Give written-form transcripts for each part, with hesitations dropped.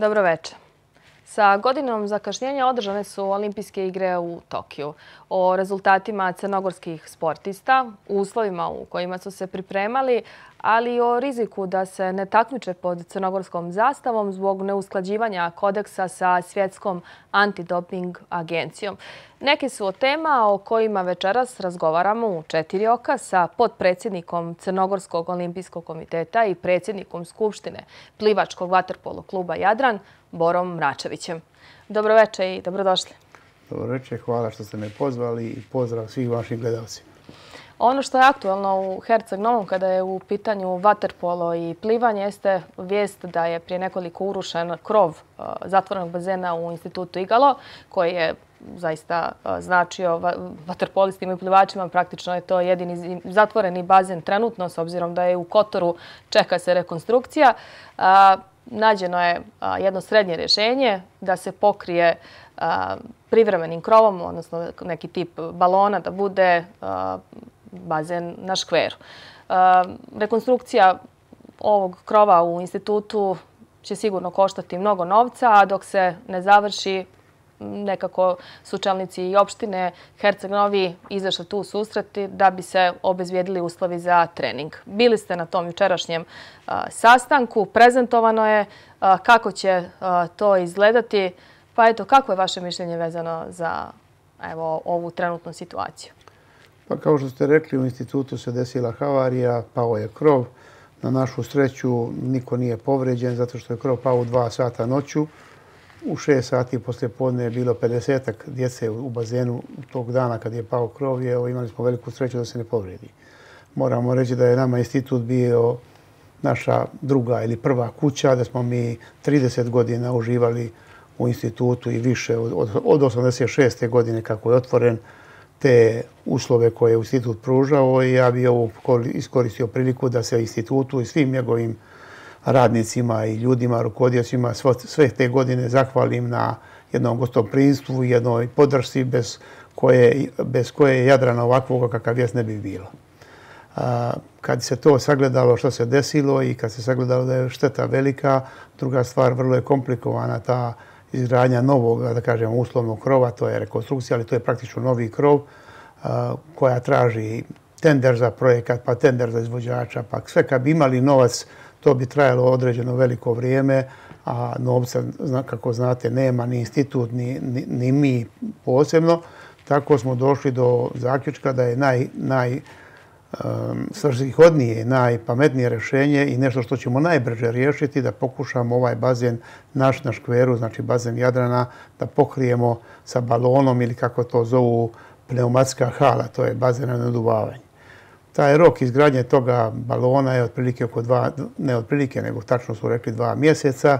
Dobro večer. Sa godinom zakašnjenja održane su Olimpijske igre u Tokiju. O rezultatima crnogorskih sportista, uslovima u kojima su se pripremali, ali i o riziku da se ne takmiče pod crnogorskom zastavom zbog neusklađivanja kodeksa sa Svjetskom antidoping agencijom. Neke su od tema o kojima večeras razgovaramo u 4 oka sa potpredsjednikom Crnogorskog olimpijskog komiteta i predsjednikom Skupštine plivačkog vaterpolo kluba Jadran, Borom Mračevićem. Dobro večer i dobrodošli. Dobro večer, hvala što ste me pozvali i pozdrav svih vaših gledalcima. Ono što je aktualno u Herceg Novom kada je u pitanju vaterpolo i plivanje jeste vijest da je prije nekoliko urušen krov zatvorenog bazena u institutu Igalo, koji je zaista značio vaterpolistima i plivačima. Praktično je to jedini zatvoreni bazen trenutno, s obzirom da je u Kotoru čeka se rekonstrukcija. Nađeno je jedno srednje rješenje da se pokrije privremenim krovom, odnosno neki tip balona, da bude bazen na škveru. Rekonstrukcija ovog krova u institutu će sigurno koštati mnogo novca, a dok se ne završi, nekako su čelnici i opštine Herceg Novi izašli tu u susreti da bi se obezbijedili uslovi za trening. Bili ste na tom jučerašnjem sastanku, prezentovano je kako će to izgledati. Pa eto, kako je vaše mišljenje vezano za ovu trenutnu situaciju? Pa kao što ste rekli, u institutu se desila havarija, pao je krov. Na našu sreću niko nije povređen zato što je krov pao u 2 sata noću. U 6 sati poslijepodne je bilo 50-ak djece u bazenu tog dana kad je pao krov. Imali smo veliku sreću da se ne povredi. Moramo reći da je nama institut bio naša druga ili prva kuća, da smo mi 30 godina uživali u institutu i više od 86. godine kako je otvoren, te uslove koje je institut pružao, i ja bih ovo iskoristio priliku da se institutu i svim njegovim radnicima i ljudima, rukovodiocima sve te godine zahvalim na jednom gostoprimstvu i jednoj podršci bez koje Jadrana ovakvog kakav jest ne bi bilo. Kad se to sagledalo što se desilo i kad se sagledalo da je šteta velika, druga stvar, vrlo je komplikovana ta izgradnja novog, da kažem, uslovnog krova, to je rekonstrukcija, ali to je praktično novi krov koja traži tender za projekat, pa tender za izvođača, pa sve kad bi imali novac, to bi trajalo određeno veliko vrijeme, a novca, kako znate, nema ni institut, ni mi posebno. Tako smo došli do zaključka da je najsvrsishodnije, najpametnije rješenje i nešto što ćemo najbrže riješiti, da pokušamo ovaj bazen naš na škveru, znači bazen Jadrana, da pokrijemo sa balonom ili kako to zovu pneumatska hala, to je bazen na naduvavanje. Taj rok izgradnje toga balona je otprilike oko ne otprilike, nego tačno su rekli 2 mjeseca,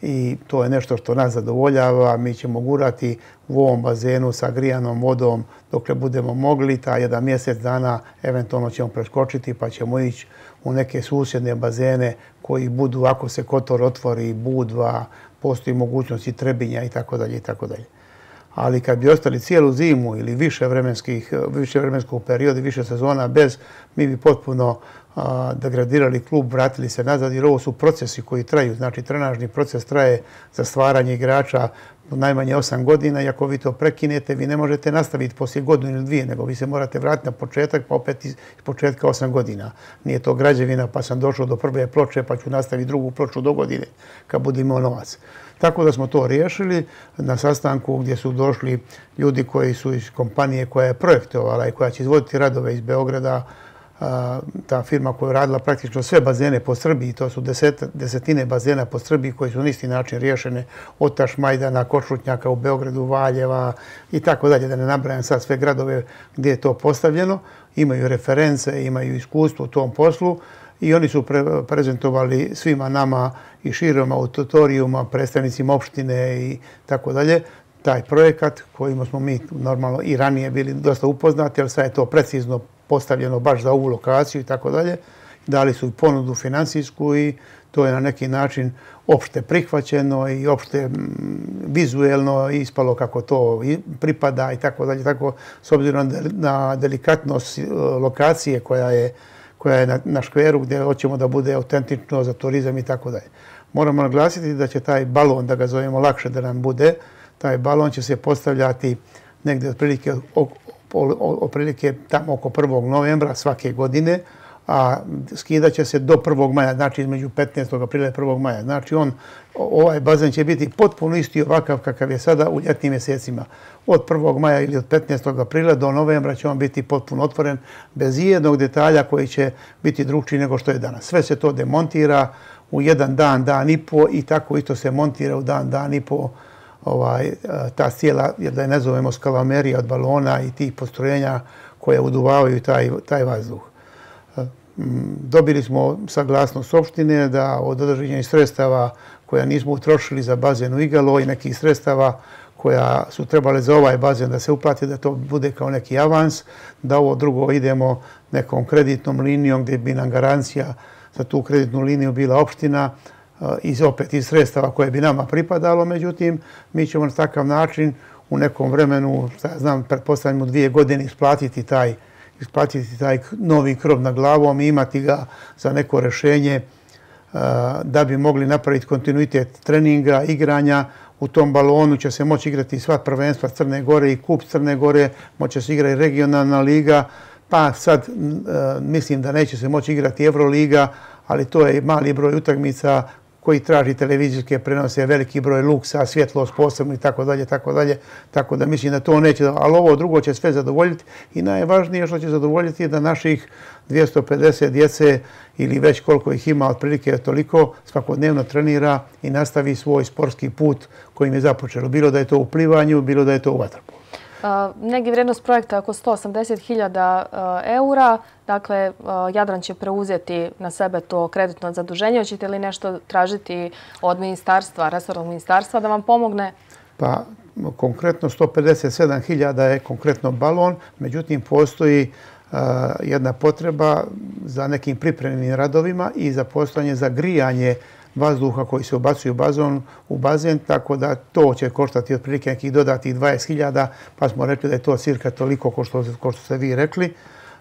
i to je nešto što nas zadovoljava. Mi ćemo gurati u ovom bazenu sa grijanom vodom dokle budemo mogli. Ta 1 mjesec dana eventualno ćemo preskočiti pa ćemo ići u neke susjedne bazene koji budu, ako se Kotor otvori, Budva, postoji mogućnost i Trebinja itd. itd. Ali kad bi ostali cijelu zimu ili više vremenskog perioda, više sezona bez, mi bi potpuno degradirali klub, vratili se nazad, jer ovo su procesi koji traju. Znači, trenažni proces traje za stvaranje igrača najmanje 8 godina, i ako vi to prekinete, vi ne možete nastaviti poslije godinu ili 2, nego vi se morate vratiti na početak, pa opet iz početka 8 godina. Nije to građevina, pa sam došao do prve ploče, pa ću nastaviti drugu ploču do godine, kad budem imao novac. Tako da smo to riješili na sastanku gdje su došli ljudi koji su iz kompanije koja je projektovala i koja će izvoditi radove iz Beograda. Ta firma koja je radila praktično sve bazene po Srbiji, to su desetine bazena po Srbiji koji su na isti način riješene, od Tašmajdana, Košutnjaka u Beogradu, Valjeva i tako dalje, da ne nabrajam sad sve gradove gdje je to postavljeno. Imaju reference, imaju iskustvo u tom poslu i oni su prezentovali svima nama i širom auditorijuma, predstavnicima opštine i tako dalje, taj projekat kojim smo mi normalno i ranije bili dosta upoznati, ali sad je to precizno postavljeno baš za ovu lokaciju i tako dalje. Dali su i ponudu financijsku i to je na neki način opšte prihvaćeno i opšte vizuelno ispalo kako to pripada i tako dalje. Tako, s obzirom na delikatnost lokacije koja je na škveru gdje hoćemo da bude autentično za turizam i tako dalje. Moramo naglasiti da će taj balon, da ga zovemo lakše da nam bude, taj balon će se postavljati negdje otprilike tamo oko 1. novembra svake godine, a skidat će se do 1. maja, znači između 15. aprila i 1. maja. Znači ovaj bazen će biti potpuno isti ovakav kakav je sada u ljetnim mjesecima. Od 1. maja ili od 15. aprila do novembra će on biti potpuno otvoren bez ijednog detalja koji će biti drugčiji nego što je danas. Sve se to demontira u jedan dan, dan i po i tako isto se montira u dan, dan i po ta cijela, jer da je ne zovemo skalamerija od balona i tih postrojenja koje uduvavaju taj vazduh. Dobili smo saglasnost opštine da od određenih sredstava koja nismo utrošili za bazen u Igalo i nekih sredstava koja su trebale za ovaj bazen da se uplati, da to bude kao neki avans, da ovo drugo idemo nekom kreditnom linijom gdje bi nam garancija za tu kreditnu liniju bila opština opet iz sredstava koje bi nama pripadalo. Međutim, mi ćemo na takav način u nekom vremenu, pretpostavljamo 2 godine, isplatiti taj novi krov na glavom i imati ga za neko rješenje da bi mogli napraviti kontinuitet treninga, igranja. U tom balonu će se moći igrati sva prvenstva Crne Gore i kup Crne Gore, moće se igrati regionalna liga, pa sad mislim da neće se moći igrati Euroliga, ali to je mali broj utakmica koji traži televizijske prenose, veliki broj luksa, svjetlost posebno i tako dalje, tako dalje. Tako da mislim da to neće, ali ovo drugo će sve zadovoljiti i najvažnije što će zadovoljiti je da naših 250 djece ili već koliko ih ima, otprilike toliko, svakodnevno trenira i nastavi svoj sportski put kojim je započelo. Bilo da je to u plivanju, bilo da je to u vaterpolu. Negdje vrijednost projekta je oko 180.000 eura. Dakle, Jadran će preuzeti na sebe to kreditno zaduženje. Hoćete li nešto tražiti od ministarstva, resornog ministarstva da vam pomogne? Pa, konkretno 157.000 je konkretno balon. Međutim, postoji jedna potreba za nekim pripremnim radovima i za postojanje za grijanje vazduha koji se ubacuju u bazen, tako da to će koštati otprilike nekih dodatih 20.000, pa smo rekli da je to cirka toliko ko što ste vi rekli.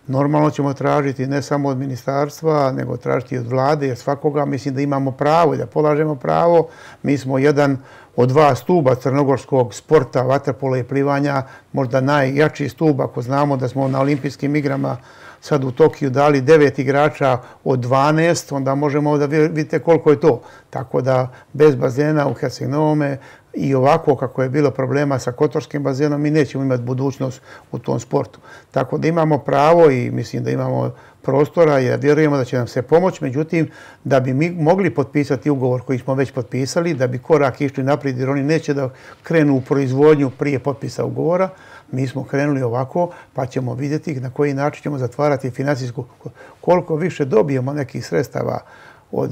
Normalno ćemo tražiti ne samo od ministarstva, nego tražiti od vlade, jer svakoga mislim da imamo pravo i da polažemo pravo. Mi smo jedan od 2 stuba crnogorskog sporta, vaterpola i plivanja, možda najjači stub, ako znamo da smo na olimpijskim igrama sad u Tokiju dali 9 igrača od 12, onda možemo da vidite koliko je to. Tako da bez bazena u Herceg Novome i ovako kako je bilo problema sa kotorskim bazenom, mi nećemo imati budućnost u tom sportu. Tako da imamo pravo i mislim da imamo prostora i vjerujemo da će nam se pomoći. Međutim, da bi mi mogli potpisati ugovor koji smo već potpisali, da bi korak išli naprijed jer oni neće da krenu u proizvodnju prije potpisa ugovora, mi smo krenuli ovako, pa ćemo vidjeti na koji način ćemo zatvarati financijsku. Koliko više dobijemo nekih sredstava od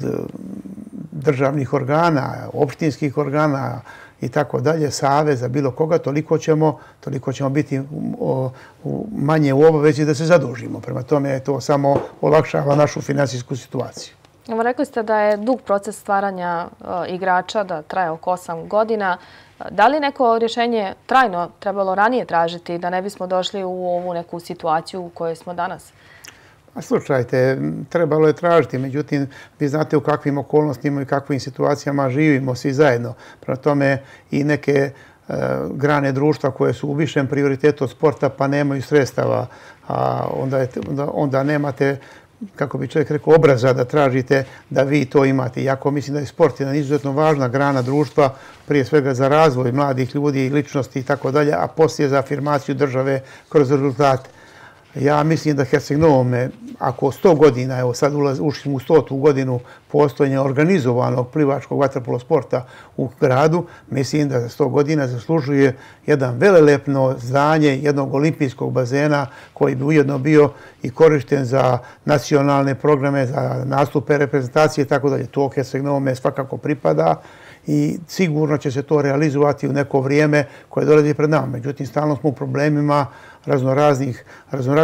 državnih organa, opštinskih organa i tako dalje, saveza, bilo koga, toliko ćemo biti manje u obavezi da se zadužimo. Prema tome, to samo olakšava našu financijsku situaciju. Rekli ste da je dug proces stvaranja igrača, da traje oko 8 godina. Da li neko rješenje trajno trebalo ranije tražiti da ne bismo došli u ovu neku situaciju u kojoj smo danas? Slušajte, trebalo je tražiti, međutim, vi znate u kakvim okolnostima i kakvim situacijama živimo svi zajedno. Prema tome i neke grane društva koje su u višem prioritetu od sporta pa nemaju sredstava, a onda nemate, kako bi čovjek rekao, obraza da tražite da vi to imate. Iako mislim da je sport jedna izuzetno važna grana društva, prije svega za razvoj mladih ljudi i ličnosti i tako dalje, a poslije za afirmaciju države kroz rezultate. Ja mislim da Herceg Novome, ako 100 godina, evo sad ušli u 100. godinu postojanja organizovanog plivačkog vaterpolo sporta u gradu, mislim da za 100 godina zaslužuje jedan velelepno zdanje jednog olimpijskog bazena koji bi ujedno bio i korišten za nacionalne programe, za nastupe reprezentacije i tako dalje. To Herceg Novome svakako pripada i sigurno će se to realizovati u neko vrijeme koje dolazi pred nama. Međutim, stalno smo u problemima raznoraznih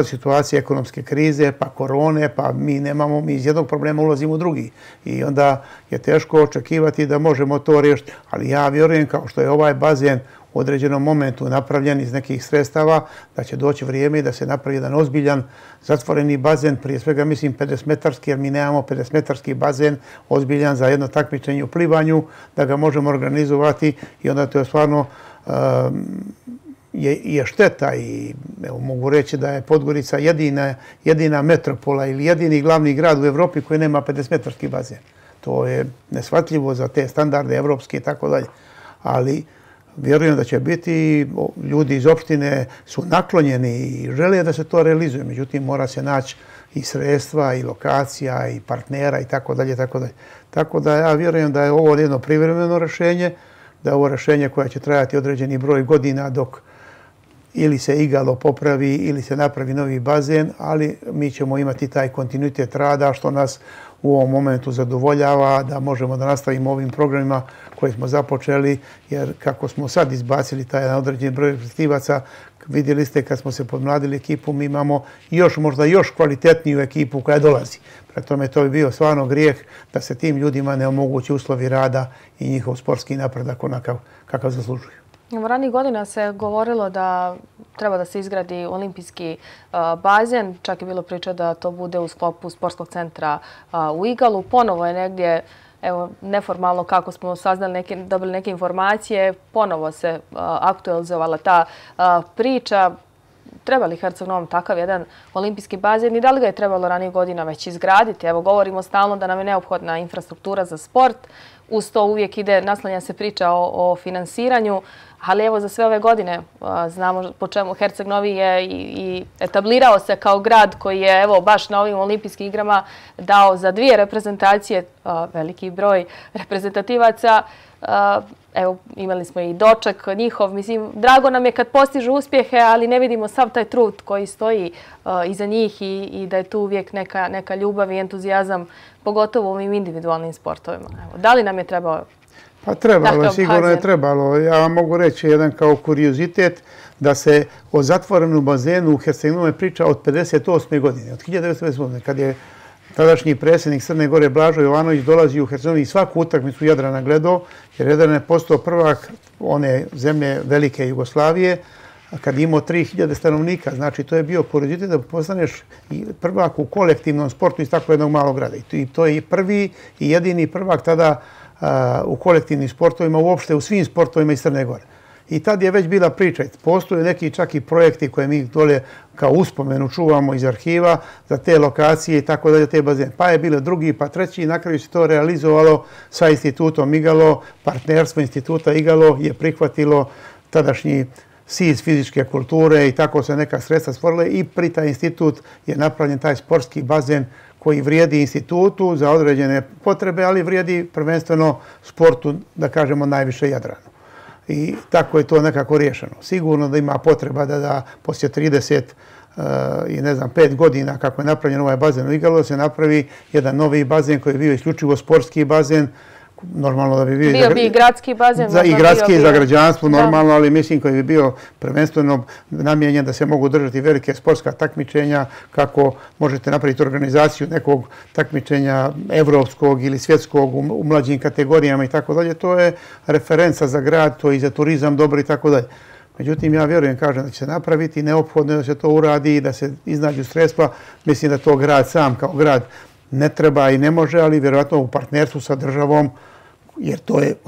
situacija, ekonomske krize, pa korone, pa mi iz jednog problema ulazimo u drugi. I onda je teško očekivati da možemo to riješiti. Ali ja vjerujem kao što je ovaj bazen u određenom momentu napravljen iz nekih sredstava, da će doći vrijeme i da se napravi jedan ozbiljan zatvoreni bazen, prije svega mislim 50-metarski, jer mi nemamo 50-metarski bazen ozbiljan za jedno takmičenje u plivanju, da ga možemo organizovati i onda to je stvarno je šteta i mogu reći da je Podgorica jedina metropola ili jedini glavni grad u Evropi koji nema 50-metarski bazen. To je neshvatljivo za te standarde evropske i tako dalje. Ali vjerujem da će biti, ljudi iz opštine su naklonjeni i žele da se to realizuje. Međutim, mora se naći i sredstva, i lokacija, i partnera i tako dalje, tako dalje. Tako da ja vjerujem da je ovo jedno privremeno rješenje, da je ovo rješenje koje će trajati određeni broj godina dok ili se igalo popravi ili se napravi novi bazen, ali mi ćemo imati taj kontinuitet rada što nas u ovom momentu zadovoljava da možemo da nastavimo ovim programima koje smo započeli, jer kako smo sad izbacili taj određeni broj reprezentativaca, vidjeli ste kad smo se podmladili ekipu, mi imamo možda još kvalitetniju ekipu koja dolazi. Prema tome to bi bio stvarno grijeh da se tim ljudima ne omogući uslovi rada i njihov sportski napredak onakav kakav zaslužuju. Ranijih godina se govorilo da treba da se izgradi olimpijski bazen. Čak je bilo priča da to bude u sklopu sportskog centra u Igalu. Ponovo je negdje, evo, neformalno kako smo saznali, dobili neke informacije, ponovo se aktualizovala ta priča. Treba li Herceg Novom takav jedan olimpijski bazen i da li ga je trebalo ranijih godina već izgraditi? Evo, govorimo stalno da nam je neophodna infrastruktura za sport. Uz to uvijek naslanja se priča o finansiranju, ali evo za sve ove godine znamo po čemu Herceg Novi je i etablirao se kao grad koji je evo baš na ovim olimpijskim igrama dao za 2 reprezentacije veliki broj reprezentativaca. Evo, imali smo i doček njihov. Mislim, drago nam je kad postižu uspjehe, ali ne vidimo sav taj trud koji stoji iza njih i da je tu uvijek neka ljubav i entuzijazam, pogotovo u ovim individualnim sportovima. Evo, da li nam je trebao? Pa trebalo, sigurno je trebalo. Ja vam mogu reći jedan kao kuriozitet da se o zatvorenom bazenu u Herceg Novome priča od 58. godine, od 1958. kad je tadašnji predsjednik Crne Gore Blažo Jovanović dolazi u Herceg Novi i svaku utakmicu Jadrana gledao, jer Jadran je postao prvak one zemlje velike Jugoslavije, kad je imao 3000 stanovnika. Znači, to je bio kuriozitet da postaneš prvak u kolektivnom sportu iz tako jednog malog grada. I to je prvi i jedini prvak tada u kolektivnim sportovima, uopšte u svim sportovima iz Crne Gore. I tad je već bila priča. Postoje neki čak i projekti koje mi dole kao uspomenu čuvamo iz arhiva za te lokacije i tako dalje, te bazene. Pa je bilo drugi, pa treći i na kraju se to realizovalo sa institutom Igalo. Partnerstvo instituta Igalo je prihvatilo tadašnji SIZ fizičke kulture i tako se neka sredstva stvorile i pri taj institut je napravljen taj sportski bazen koji vrijedi institutu za određene potrebe, ali vrijedi prvenstveno sportu, da kažemo, najviše Jadranu. I tako je to nekako riješeno. Sigurno da ima potreba da poslije 30 i ne znam 5 godina kako je napravljen ovaj bazen u Igalu, da se napravi jedan novi bazen koji je bio isključivo sportski bazen. Normalno da bi bio i gradski bazen. I gradski za građanstvo normalno, ali mislim koji bi bio prvenstveno namijenjen da se mogu držati velike sportska takmičenja, kako možete napraviti organizaciju nekog takmičenja evropskog ili svjetskog u mlađim kategorijama i tako dalje. To je referenca za grad, to je i za turizam dobro i tako dalje. Međutim, ja vjerujem, kažem, da će se napraviti, neophodno je da se to uradi i da se iznađu sredstva. Mislim da to grad sam kao grad ne treba i ne može, ali vjerojatno u partnerstvu sa državom, jer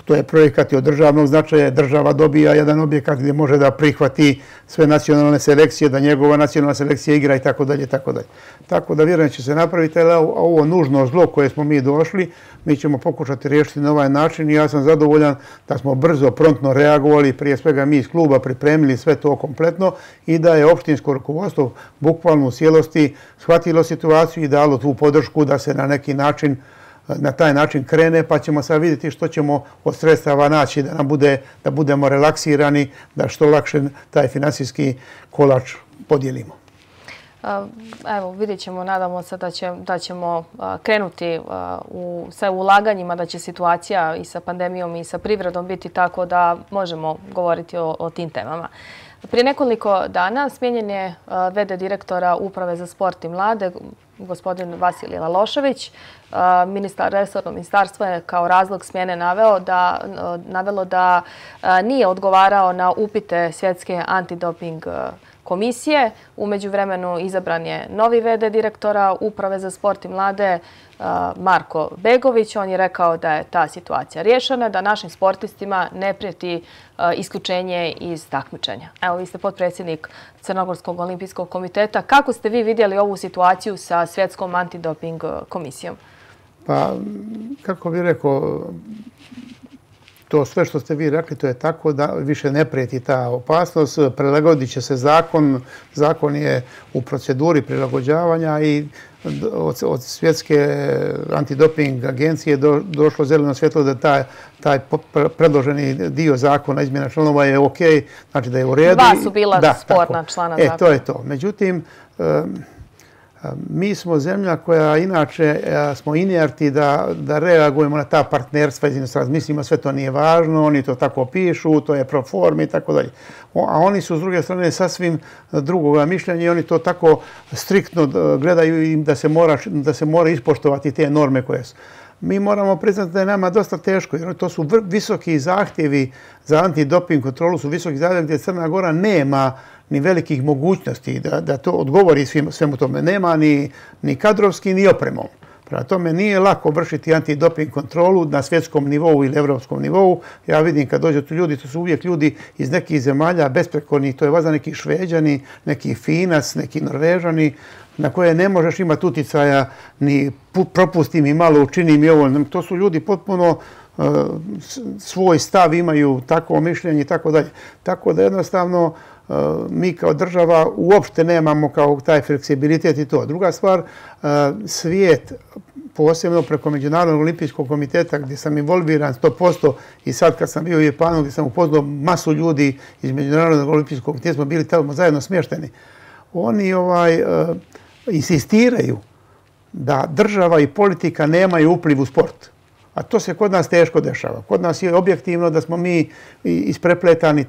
to je projekat od državnog značaja. Država dobija jedan objekat gdje može da prihvati sve nacionalne selekcije, da njegova nacionalna selekcija igra i tako dalje, tako dalje. Tako da vjerujem će se napraviti, ali ovo nužno zlo koje smo mi došli, mi ćemo pokušati riješiti na ovaj način i ja sam zadovoljan da smo brzo, promptno reagovali, prije svega mi iz kluba pripremili sve to kompletno i da je opštinsko rukovodstvo bukvalno u cijelosti shvatilo situaciju i dalo tu podršku da se na neki način na taj način krene, pa ćemo sad vidjeti što ćemo od sredstava naći da budemo relaksirani, da što lakše taj finansijski kolač podijelimo. Evo, vidjet ćemo, nadamo se da ćemo krenuti sa ulaganjima, da će situacija i sa pandemijom i sa privredom biti tako da možemo govoriti o tim temama. Prije nekoliko dana smijenjen je v.d. direktora Uprave za sport i mlade, gospodin Vasilij Lalošević. Resorno ministarstvo je kao razlog smjene navelo da nije odgovarao na upite Svjetske antidoping komisije. U međuvremenu izabran je novi v.d. direktora Uprave za sport i mlade Marko Begović. On je rekao da je ta situacija riješena, da našim sportistima ne prijeti isključenje iz takmičenja. Evo, vi ste potpredsjednik Crnogorskog olimpijskog komiteta. Kako ste vi vidjeli ovu situaciju sa Svjetskom antidoping komisijom? Pa, kako bih rekao, to sve što ste vi rekli, to je tako da više ne prijeti ta opasnost. Prilagodit će se zakon. Zakon je u proceduri prilagođavanja i od Svjetske antidoping agencije došlo zeleno svjetlo da taj predloženi dio zakona, izmjena članova je ok, znači da je u redu. Dva su bila sporna člana zakona. To je to. Međutim, mi smo zemlja koja inače smo inerti da reagujemo na ta partnerstva iz inostranstva. Mislimo sve to nije važno, oni to tako pišu, to je pro formi i tako dalje. A oni su s druge strane sasvim drugoga mišljenja i oni to tako striktno gledaju im da se mora ispoštovati te norme koje su. Mi moramo priznati da je nama dosta teško, jer to su visoki zahtjevi za antidoping kontrolu, su visoki zahtjevi gdje Crna Gora nema ni velikih mogućnosti da to odgovori svemu tome. Nema ni kadrovski, ni opremom. Prema tome nije lako vršiti antidoping kontrolu na svjetskom nivou ili evropskom nivou. Ja vidim kad dođu tu ljudi, to su uvijek ljudi iz nekih zemalja besprekornih, to je valjda neki Šveđani, neki Finac, neki Norvežani, na koje ne možeš imati uticaja ni propusti mi malo, učini mi ovo. To su ljudi potpuno svoj stav imaju, takvo mišljenje i tako dalje. Tako da jednostavno mi kao država uopšte nemamo kao taj fleksibilitet i to. Druga stvar, svijet, posebno preko Međunarodnog olimpijskog komiteta gdje sam involviran 100% i sad kad sam bio u Japanu gdje sam upoznao masu ljudi iz Međunarodnog olimpijskog komiteta, smo bili tamo zajedno smješteni. Oni insistiraju da država i politika nemaju upliv u sport. A to se kod nas teško dešava. Kod nas je objektivno da smo mi isprepletani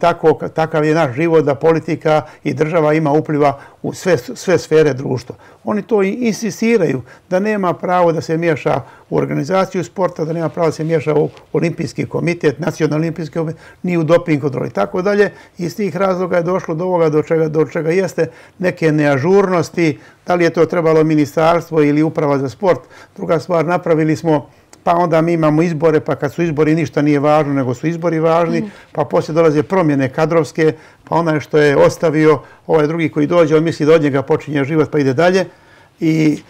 takav je naš život, da politika i država ima upliva u sve sfere društva. Oni to insistiraju da nema pravo da se miješa u organizaciju sporta, da nema pravo da se miješa u olimpijski komitet, nacionalni olimpijski komitet, ni u doping kontroli i tako dalje. Iz tih razloga je došlo do ovoga do čega jeste neke neažurnosti, da li je to trebalo ministarstvo ili uprava za sport. Druga stvar, napravili smo pa onda mi imamo izbore, pa kad su izbori ništa nije važno, nego su izbori važni, pa poslije dolaze promjene kadrovske, pa onaj što je ostavio, ovaj drugi koji dođe, on misli da od njega počinje život pa ide dalje. I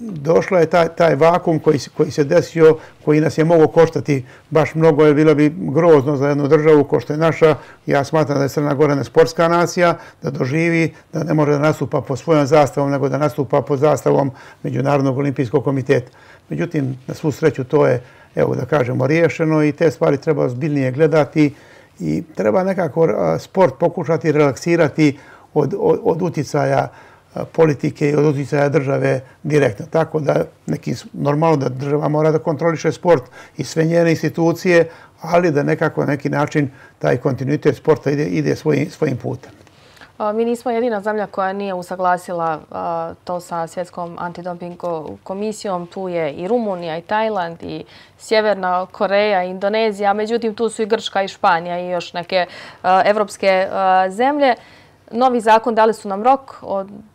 došlo je taj vakum koji se desio, koji nas je mogao koštati baš mnogo, jer bilo bi grozno za jednu državu ko što je naša. Ja smatram da je Crna Gora sportska nacija, da doživi, da ne može da nastupa po svojom zastavom, nego da nastupa pod zastavom Međunarodnog olimpijskog komiteta. Međutim, na svu sreću to je, evo da kažemo, riješeno i te stvari treba ozbiljnije gledati i treba nekako sport pokušati relaksirati od uticaja politike i od uticaja države direktno. Tako da normalno da država mora da kontroliše sport i sve njene institucije, ali da nekako na neki način taj kontinuitet sporta ide svojim putem. Mi nismo jedina zemlja koja nije usaglasila to sa Svjetskom antidoping komisijom. Tu je i Rumunija, i Tajland, i Sjeverna Koreja, i Indonezija. Međutim, tu su i Grčka, i Španija, i još neke evropske zemlje. Novi zakon dali su nam rok.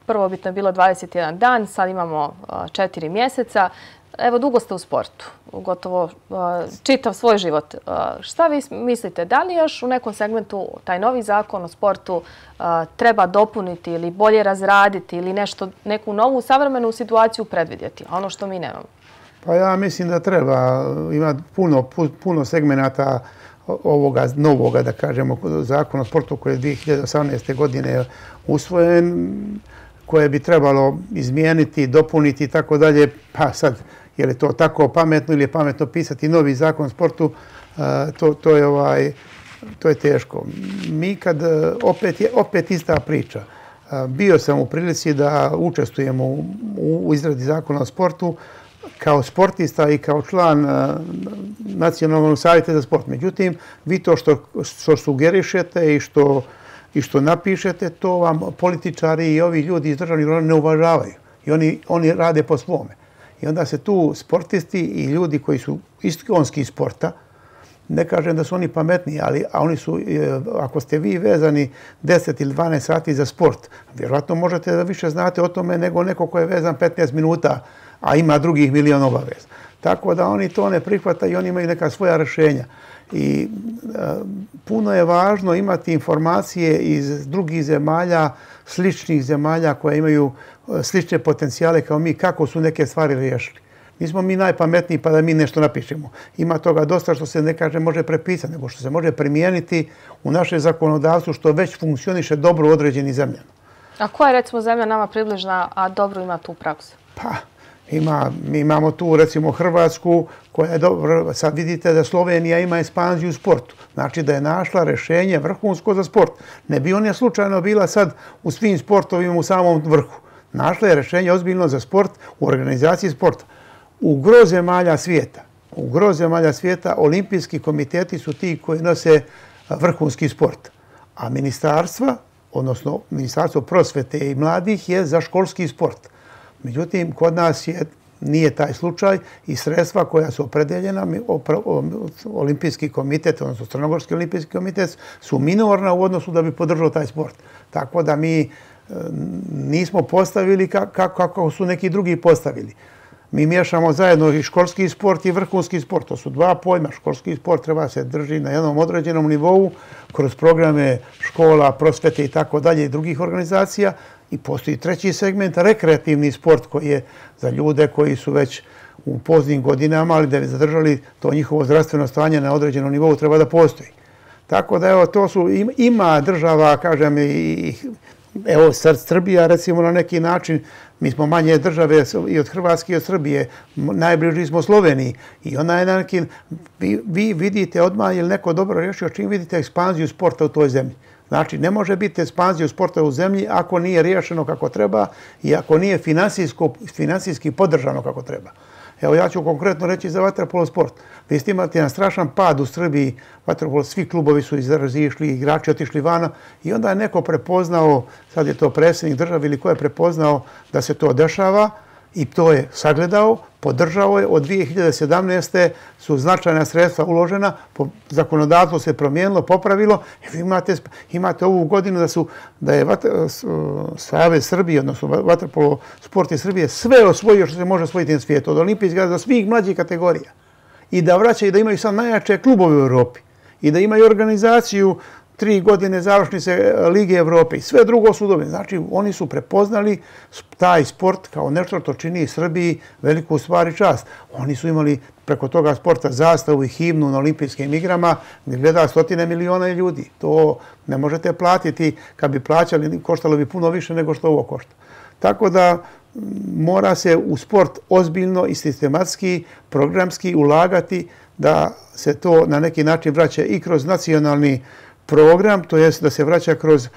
Prvobitno je bilo 21 dan, sad imamo 4 mjeseca. Evo, dugo ste u sportu, gotovo čitav svoj život. Šta vi mislite, da li još u nekom segmentu taj novi zakon o sportu treba dopuniti ili bolje razraditi ili neku novu savremenu situaciju predvidjeti, ono što mi nemamo? Pa ja mislim da treba. Ima puno segmenata ovoga novoga, da kažemo, zakona o sportu koji je 2018. godine usvojen, koje bi trebalo izmijeniti, dopuniti i tako dalje. Pa sad, je li to tako pametno ili je pametno pisati novi zakon o sportu, to je teško. Mi kad, opet ista priča. Bio sam u prilici da učestvujemo u izradi zakona o sportu kao sportista i kao član Nacionalnog savjeta za sport. Međutim, vi to što sugerišete i što napišete, to vam političari i ovi ljudi iz državnih organa ne uvažavaju. i oni rade po svome. I onda se tu sportisti i ljudi koji su iskonski sporta, ne kažem da su oni pametniji, ali oni su, ako ste vi vezani 10 ili 12 sati za sport, vjerojatno možete da više znate o tome nego neko ko je vezan 15 minuta, a ima drugih milion obaveza. Tako da oni to ne prihvataju i oni imaju neka svoja rješenja. I puno je važno imati informacije iz drugih zemalja, sličnih zemalja koje imaju slične potencijale kao mi, kako su neke stvari riješili. Nismo mi najpametniji pa da mi nešto napišemo. Ima toga dosta što se ne kaže može prepisati, nego što se može primijeniti u naše zakonodavstvo što već funkcioniše dobro u određenim zemljama. A koja je recimo zemlja nama približna, a dobro ima tu praksu? Pa, mi imamo tu recimo Hrvatsku koja je dobro. Sad vidite da Slovenija ima ekspanziju u sportu. Znači da je našla rješenje vrhunsko za sport. Ne bi ona slučajno bila sad u svim sportovima u samom vrhu. Našla je rješenje ozbiljno za sport u organizaciji sporta. U gro zemalja svijeta olimpijski komiteti su ti koji nose vrhunski sport. A ministarstva, odnosno Ministarstvo prosvete i mladih je za školski sport. Međutim, kod nas nije taj slučaj i sredstva koja su opredeljena, olimpijski komitet, odnosno Crnogorski olimpijski komitet, su minorna u odnosu da bi podržao taj sport. Tako da mi nismo postavili kako su neki drugi postavili. Mi miješamo zajedno i školski sport i vrhunski sport. To su dva pojma. Školski sport treba se drži na jednom određenom nivou kroz programe škola, prosvete i tako dalje i drugih organizacija. I postoji treći segment, rekreativni sport koji je za ljude koji su već u poznim godinama, ali da bi zadržali to njihovo zdravstveno stanje na određenom nivou treba da postoji. Tako da evo, to su, ima država, kažem, evo sad Srbija recimo na neki način, mi smo manje države i od Hrvatske i od Srbije, najbliži smo Sloveniji i ona je na neki, vi vidite odmah je li neko dobro rješio čim vidite ekspanziju sporta u toj zemlji. Znači, ne može biti ekspanzija sporta u zemlji ako nije riješeno kako treba i ako nije finansijski podržano kako treba. Evo, ja ću konkretno reći za vaterpolo sport. Vi ste imali jedan strašan pad u Srbiji, vaterpolo, svi klubovi su izašli, igrači otišli vana i onda je neko prepoznao, sad je to predsjednik države ili ko je prepoznao da se to dešava i to je sagledao, podržao je. Od 2017. su značajna sredstva uložena, zakonodavstvo se promijenilo, popravilo. Vi imate ovu godinu da je Savez Srbije, odnosno vaterpolo sport iz Srbije, sve osvojio što se može osvojiti na svijetu, od olimpijskih do svih mlađih kategorija. I da vraćaju, da imaju sad najjače klubove u Europi. I da imaju organizaciju 3 godine završnice Lige Evrope i sve drugo su dobili. Znači, oni su prepoznali taj sport kao nešto što čini Srbiji veliku stvar i čast. Oni su imali preko toga sporta zastavu i himnu na olimpijskim igrama gdje gleda 100 miliona ljudi. To ne možete platiti. Kad bi plaćali, koštalo bi puno više nego što ovo košta. Tako da mora se u sport ozbiljno i sistematski, programski ulagati da se to na neki način vraća i kroz nacionalni program, to jest da se vraća kroz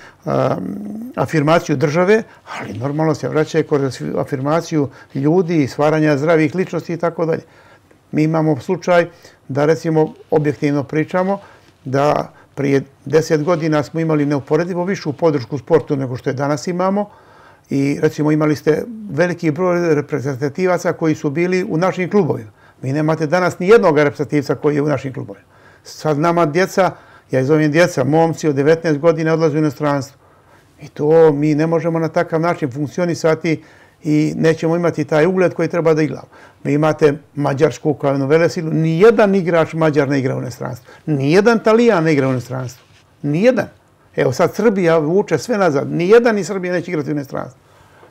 afirmaciju države, ali normalno se vraća i kroz afirmaciju ljudi, stvaranja zdravih ličnosti i tako dalje. Mi imamo slučaj da, recimo, objektivno pričamo da prije 10 godina smo imali neuporedivo višu podršku sportu nego što je danas imamo i, recimo, imali ste veliki broj reprezentativaca koji su bili u našim klubovima. Vi nemate danas ni jednog reprezentativca koji je u našim klubovima. Sad nama djeca, ja ih zovem djeca, momci od 19 godina odlaze u inostranstvo. I to mi ne možemo na takav način funkcionisati i nećemo imati taj ugled koji treba da igramo. Vi imate Mađarsku kao jednu velesilu, nijedan igrač Mađar ne igra u inostranstvu. Nijedan Talijan ne igra u inostranstvu. Nijedan. Evo sad Srbija vuče sve nazad. Nijedan iz Srbije neće igrati u inostranstvu.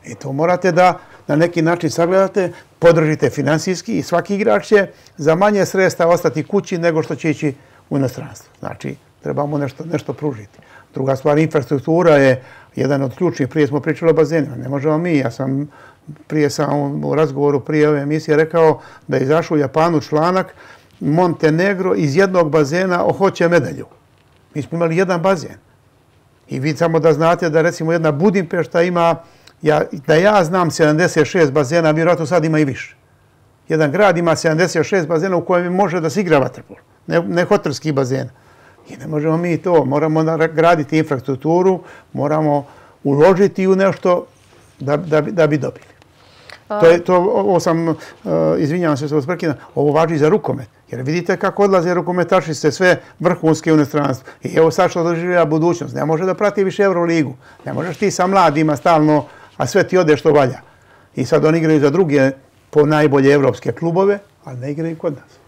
I to morate da na neki način sagledate, podržite finansijski i svaki igrač će za manje sredstva ostati kući nego što će ići u inostranstvo. Znači, trebamo nešto pružiti. Druga stvar, infrastruktura je jedan od ključnih. Prije smo pričali o bazenima. Ne možemo mi. Ja sam u razgovoru prije ove emisije rekao da je izašao u Japanu članak Montenegro iz jednog bazena hoće medalju. Mi smo imali jedan bazen. I vi samo da znate da, recimo, jedna Budimpešta ima, da ja znam, 76 bazena, vjerojatno sad ima i više. Jedan grad ima 76 bazena u kojem može da se igra vaterpolo. Ne hotelski bazen. I ne možemo mi to. Moramo graditi infrastrukturu, moramo uložiti u nešto da bi dobili. Ovo sam, izvinjavam se što vas prekidam, ovo važi za rukomet. Jer vidite kako odlaze rukometašice sve vrhunske u inostranstvu. I evo sad što doživlja budućnost. Ne može da prati više Euroligu. Ne možeš ti sa mladima stalno, a sve ti ode što valja. I sad oni igraju za druge po najbolje evropske klubove, ali ne igraju kod nas.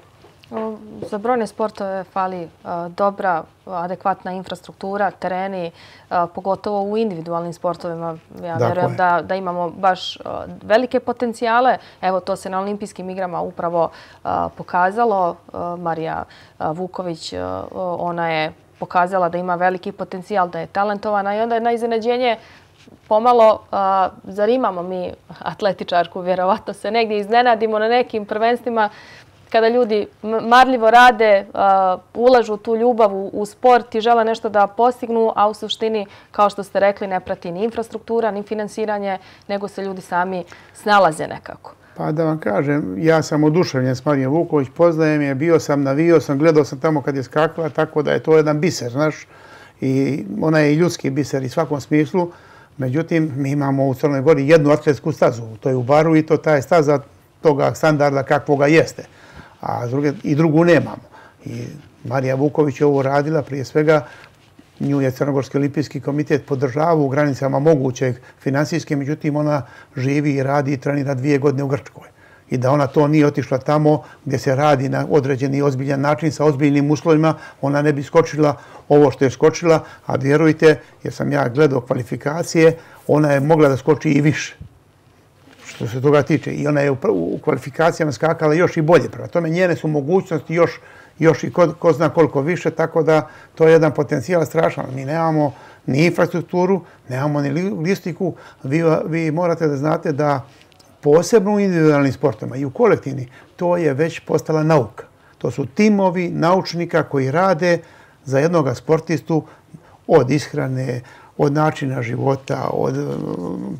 Za brojne sportove fali dobra, adekvatna infrastruktura, tereni, pogotovo u individualnim sportovima. Ja verujem da imamo baš velike potencijale. Evo, to se na olimpijskim igrama upravo pokazalo. Marija Vuković, ona je pokazala da ima veliki potencijal, da je talentovana i onda je na iznenađenje pomalo, zar imamo mi atletičarku, vjerovatno se negdje iznenadimo na nekim prvenstvima kada ljudi marljivo rade, ulažu tu ljubav u sport i žele nešto da postignu, a u suštini, kao što ste rekli, ne prati ni infrastruktura, ni finansiranje, nego se ljudi sami snalaze nekako. Pa da vam kažem, ja sam oduševljen s Marijom Vuković, poznajem je, bio sam, navio sam, gledao sam tamo kad je skakala, tako da je to jedan biser, znaš, i ona je i ljudski biser i svakom smislu. Međutim, mi imamo u Crnoj Gori jednu atletsku stazu, to je u Baru i to ta je staza toga standarda kakvoga jeste. A i drugu nemamo. I Marija Vuković je ovo radila, prije svega nju je Crnogorski olimpijski komitet podržavao u granicama mogućeg finansijske, međutim ona živi i radi i trenira 2 godine u Grčkoj. I da ona to nije otišla tamo gdje se radi na određeni ozbiljan način sa ozbiljnim uslovima, ona ne bi skočila ovo što je skočila, a vjerujte, jer sam ja gledao kvalifikacije, ona je mogla da skoči i više. Što se toga tiče. I ona je u kvalifikacijama skakala još i bolje. Prema tome, njene su mogućnosti još i ko zna koliko više, tako da to je jedan potencijal strašan. Mi nemamo ni infrastrukturu, nemamo ni logistiku. Vi morate da znate da posebno u individualnim sportovima i u kolektivni, to je već postala nauka. To su timovi naučnika koji rade za jednog sportistu od ishrane, od načina života, od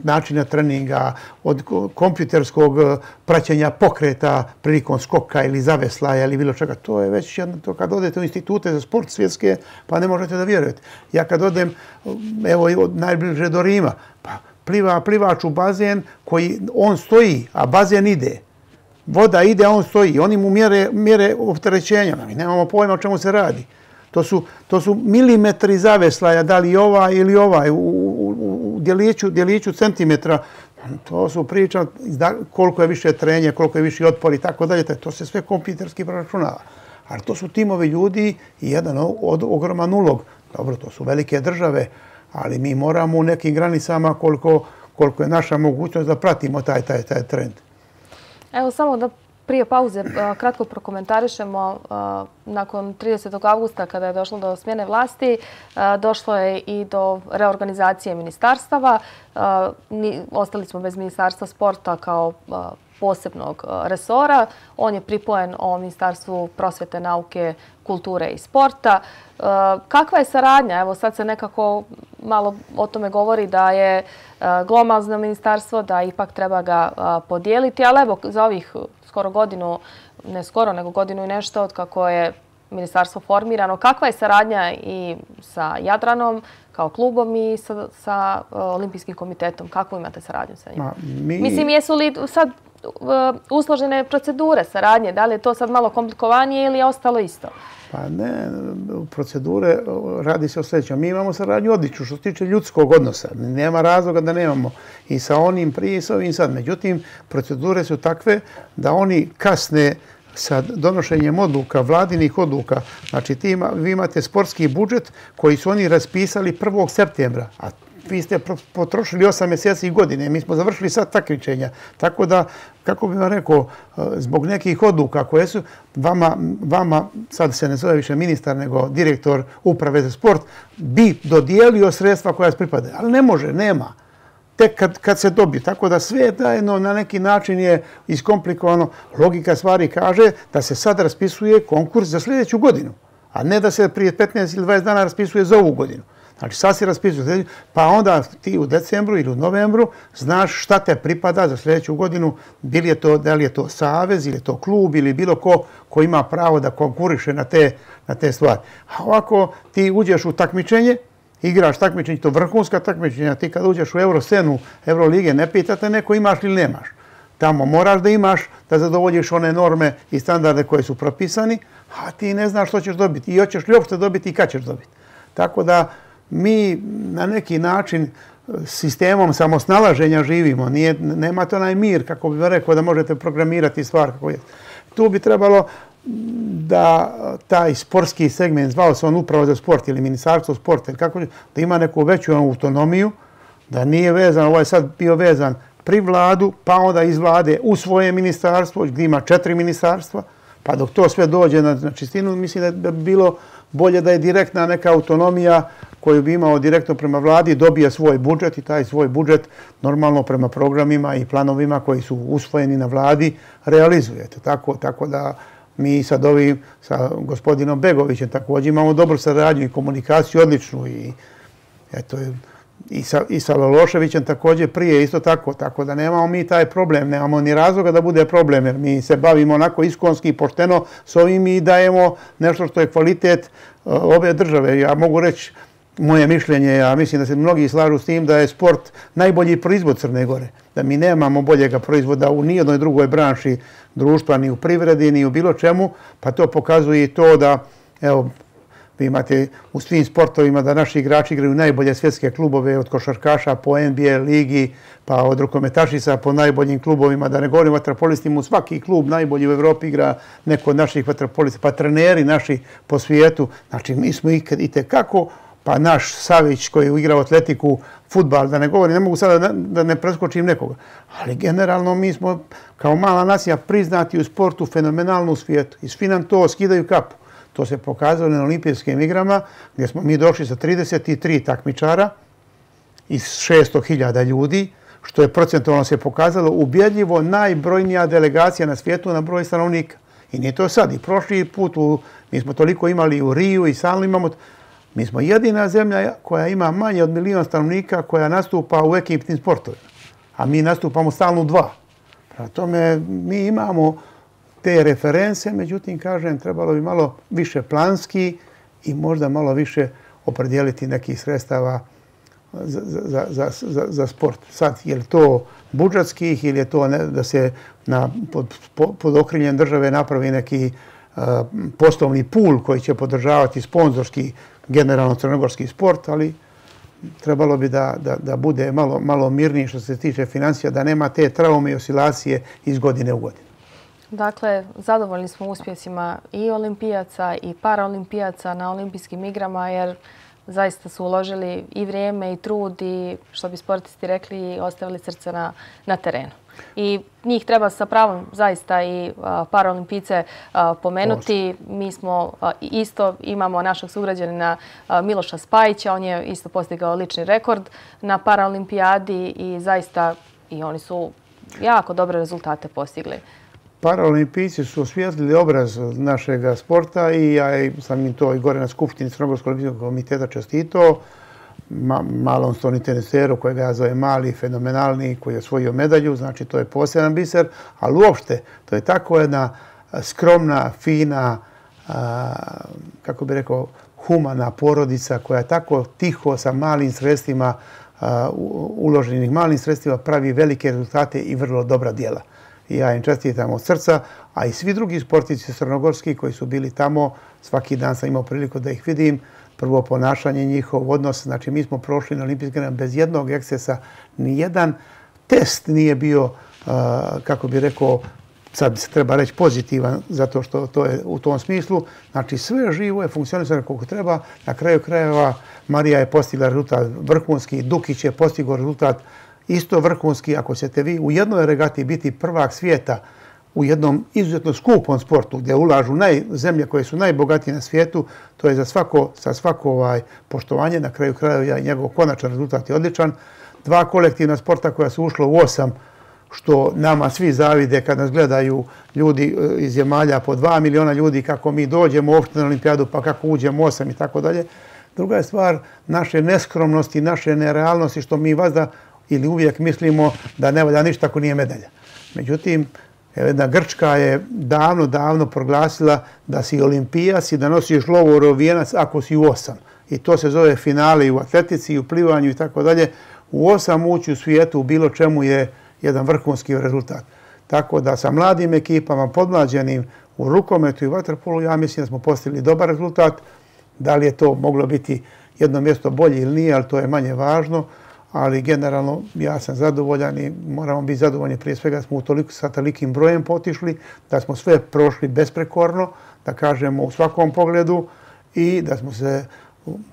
načina treninga, od kompjuterskog praćenja pokreta prilikom skoka ili zaveslaja ili bilo čega. To je već jedno, to kad odete u institute za sport svjetske, pa ne možete da vjerujete. Ja kad odem, evo najbliže do Rima, pa plivač u bazen koji on stoji, a bazen ide. Voda ide, a on stoji. Oni mu mjere opterećenja. Mi nemamo pojma o čemu se radi. To su milimetri zaveslaja, da li ovaj ili ovaj, u djeliću centimetra. To su priča koliko je više trenje, koliko je više otpor i tako dalje. To se sve kompjuterski proračunava. Ali to su timovi ljudi i jedan ogroman ulog. Dobro, to su velike države, ali mi moramo u nekim granicama koliko je naša mogućnost da pratimo taj trend. Evo samo da prije pauze kratko prokomentarišemo. Nakon 30. augusta, kada je došlo do smjene vlasti, došlo je i do reorganizacije ministarstava. Ostali smo bez Ministarstva sporta kao posebnog resora. On je pripojen o Ministarstvu prosvjete, nauke, kulture i sporta. Kakva je saradnja? Evo sad se nekako malo o tome govori da je glomazno ministarstvo, da ipak treba ga podijeliti, ali evo za ovih skoro godinu, ne skoro, nego godinu i nešto od kako je ministarstvo formirano. Kakva je saradnja i sa Jadranom kao klubom i sa Olimpijskim komitetom? Kakvu imate saradnju sa njima? Mislim, jesu li sad usložene procedure saradnje? Da li je to sad malo komplikovanije ili je ostalo isto? Pa ne, procedure radi se o sljedećem. Mi imamo saradnju odličnu što se tiče ljudskog odnosa. Nema razloga da nemamo i sa onim prije i sa ovim sad. Međutim, procedure su takve da oni kasne sa donošenjem odluka, vladinih odluka. Znači, vi imate sportski budžet koji su oni raspisali 1. septembra, a vi ste potrošili 8 mjeseci i godine. Mi smo završili sad takmičenja. Tako da, kako bih vam rekao, zbog nekih odluka koje su vama, sad se ne zove više ministar, nego direktor uprave za sport, bi dodijelio sredstva koja se pripada. Ali ne može, nema. Tek kad se dobije. Tako da sve zajedno na neki način je iskomplikovano. Logika stvari kaže da se sad raspisuje konkurs za sljedeću godinu, a ne da se prije 15 ili 20 dana raspisuje za ovu godinu. Znači, sad si raspisuje, pa onda ti u decembru ili u novembru znaš šta te pripada za sljedeću godinu, da li je to savez ili je to klub ili bilo ko ima pravo da konkuriše na te stvari. A ovako ti uđeš u takmičenje, igraš takmičenje, to vrhunska takmičenja, ti kad uđeš u Euroscenu, Eurolige, ne pitate neko imaš ili nemaš. Tamo moraš da imaš, da zadovoljiš one norme i standarde koje su propisani, a ti ne znaš što ćeš dobiti i hoćeš li uopšte dobiti i kad ćeš dobiti. Tako da mi na neki način sistemom samosnalaženja živimo. Nemate onaj mir, kako bih rekao, da možete programirati stvar kako je. Tu bi trebalo da taj sportski segment, zvao se on upravo za sport ili ministarstvo sporta, da ima neku veću autonomiju, da nije vezan, ovo je sad bio vezan pri vladu, pa onda iz vlade u svoje ministarstvo, gdje ima 4 ministarstva, pa dok to sve dođe na čistinu, mislim da bi bilo bolje da je direktna neka autonomija koju bi imao direktno prema vladi, dobije svoj budžet i taj svoj budžet normalno prema programima i planovima koji su usvojeni na vladi realizujete. Tako da mi sad ovim, sa gospodinom Begovićem također imamo dobru saradnju i komunikaciju odličnu i eto, i sa Lološevićem također prije isto tako da nemamo mi taj problem, nemamo ni razloga da bude problem jer mi se bavimo onako iskonski i pošteno s ovim i dajemo nešto što je kvalitet ove države. Ja mogu reći moje mišljenje, ja mislim da se mnogi slažu s tim da je sport najbolji proizvod Crne Gore, da mi nemamo boljega proizvoda u nijednoj drugoj branši društva, ni u privredi, ni u bilo čemu, pa to pokazuje i to da, evo, vi imate u svim sportovima da naši igrači igraju najbolje svjetske klubove od košarkaša po NBA ligi, pa od rukometašica po najboljim klubovima, da ne govorim o vaterpolistima, u svaki klub najbolji u Evropi igra neko od naših vaterpolista, pa treneri naši po svijetu. Znači, mi smo itekako, pa naš Savić koji je igrao atletiku, fudbal, da ne govorim, ne mogu sada da ne preskočim nekoga, ali generalno mi smo kao mala nacija priznati u sportu fenomenalno u svijetu i svi nam to skidaju kapu. To se pokazalo na olimpijskim igrama gdje smo mi došli sa 33 takmičara iz 600.000 ljudi, što je procentualno se pokazalo ubjedljivo najbrojnija delegacija na svijetu na broj stanovnika. I nije to sad. I prošli put, mi smo toliko imali u Riju i stalno imamo. Mi smo jedina zemlja koja ima manje od 1 milion stanovnika koja nastupa u ekipnim sportovima. A mi nastupamo stalno u 2. Prema tome, mi imamo te reference, međutim, kažem, trebalo bi malo više planski i možda malo više opredijeliti nekih sredstava za sport. Sad, je li to budžetskih ili je to da se pod okriljem države napravi neki poslovni pool koji će podržavati sponzorski, generalno crnogorski sport, ali trebalo bi da bude malo mirniji što se tiče financija, da nema te traume i oscilacije iz godine u godinu. Dakle, zadovoljni smo uspjesima i olimpijaca i paraolimpijaca na olimpijskim igrama jer zaista su uložili i vrijeme i trud i, što bi sportisti rekli, ostavili srce na terenu. I njih treba sa pravom zaista i paraolimpijce pomenuti. Mi smo isto, imamo našeg sugrađanina Miloša Spajića, on je isto postigao lični rekord na paraolimpijadi i zaista i oni su jako dobre rezultate postigli. Paraolimpijci su osvijetlili obraz našeg sporta i ja sam im to i gore na Skupštini Crnogorskog olimpijskog komiteta čestitao. Malom Stoni teniseru kojega ja zovem mali, fenomenalni, koji je osvojio medalju, znači to je poseban biser, ali uopšte to je tako jedna skromna, fina, kako bih rekao, humana porodica koja tako tiho sa malim sredstvima, uloženih malim sredstvima, pravi velike rezultate i vrlo dobra djela. I ja im čestitam od srca, a i svi drugi sportici crnogorski koji su bili tamo, svaki dan sam imao priliku da ih vidim, prvo ponašanje njihov, odnos, znači mi smo prošli na olimpijske igre bez jednog ekscesa, nijedan test nije bio, kako bih rekao, sad se treba reći pozitivan, zato što to je u tom smislu. Znači sve živo je funkcionisano kako treba. Na kraju krajeva Marija je postigla rezultat vrhunski, Dukić je postigao rezultat isto vrhunski. Ako ćete vi u jednoj regati biti prvak svijeta u jednom izuzetno skupom sportu gdje ulažu zemlje koje su najbogatije na svijetu, to je sa svako poštovanje. Na kraju krajeva njegov konačan rezultat je odličan. 2 kolektivna sporta koja su ušla u 8, što nama svi zavide kad nas gledaju ljudi iz zemalja po 2 miliona ljudi, kako mi dođemo uopšte na olimpijadu, pa kako uđemo 8 i tako dalje. Druga je stvar naše neskromnosti, naše nerealnosti, što mi vazda ili uvijek mislimo da ne valja ništa ako nije medalja. Međutim, jedna Grčka je davno proglasila da si olimpijac i da nosiš lovorov vijenac ako si u 8. I to se zove finale i u atletici, i u plivanju i tako dalje. U 8 ući u svijetu u bilo čemu je jedan vrhunski rezultat. Tako da sa mladim ekipama, podmlađenim u rukometu i vaterpolu, ja mislim da smo postigli dobar rezultat. Da li je to moglo biti jedno mjesto bolje ili nije, ali to je manje važno. Ali generalno ja sam zadovoljan i moramo biti zadovoljni prije svega da smo sa tolikim brojem potišli, da smo sve prošli besprekorno, da kažemo u svakom pogledu i da smo se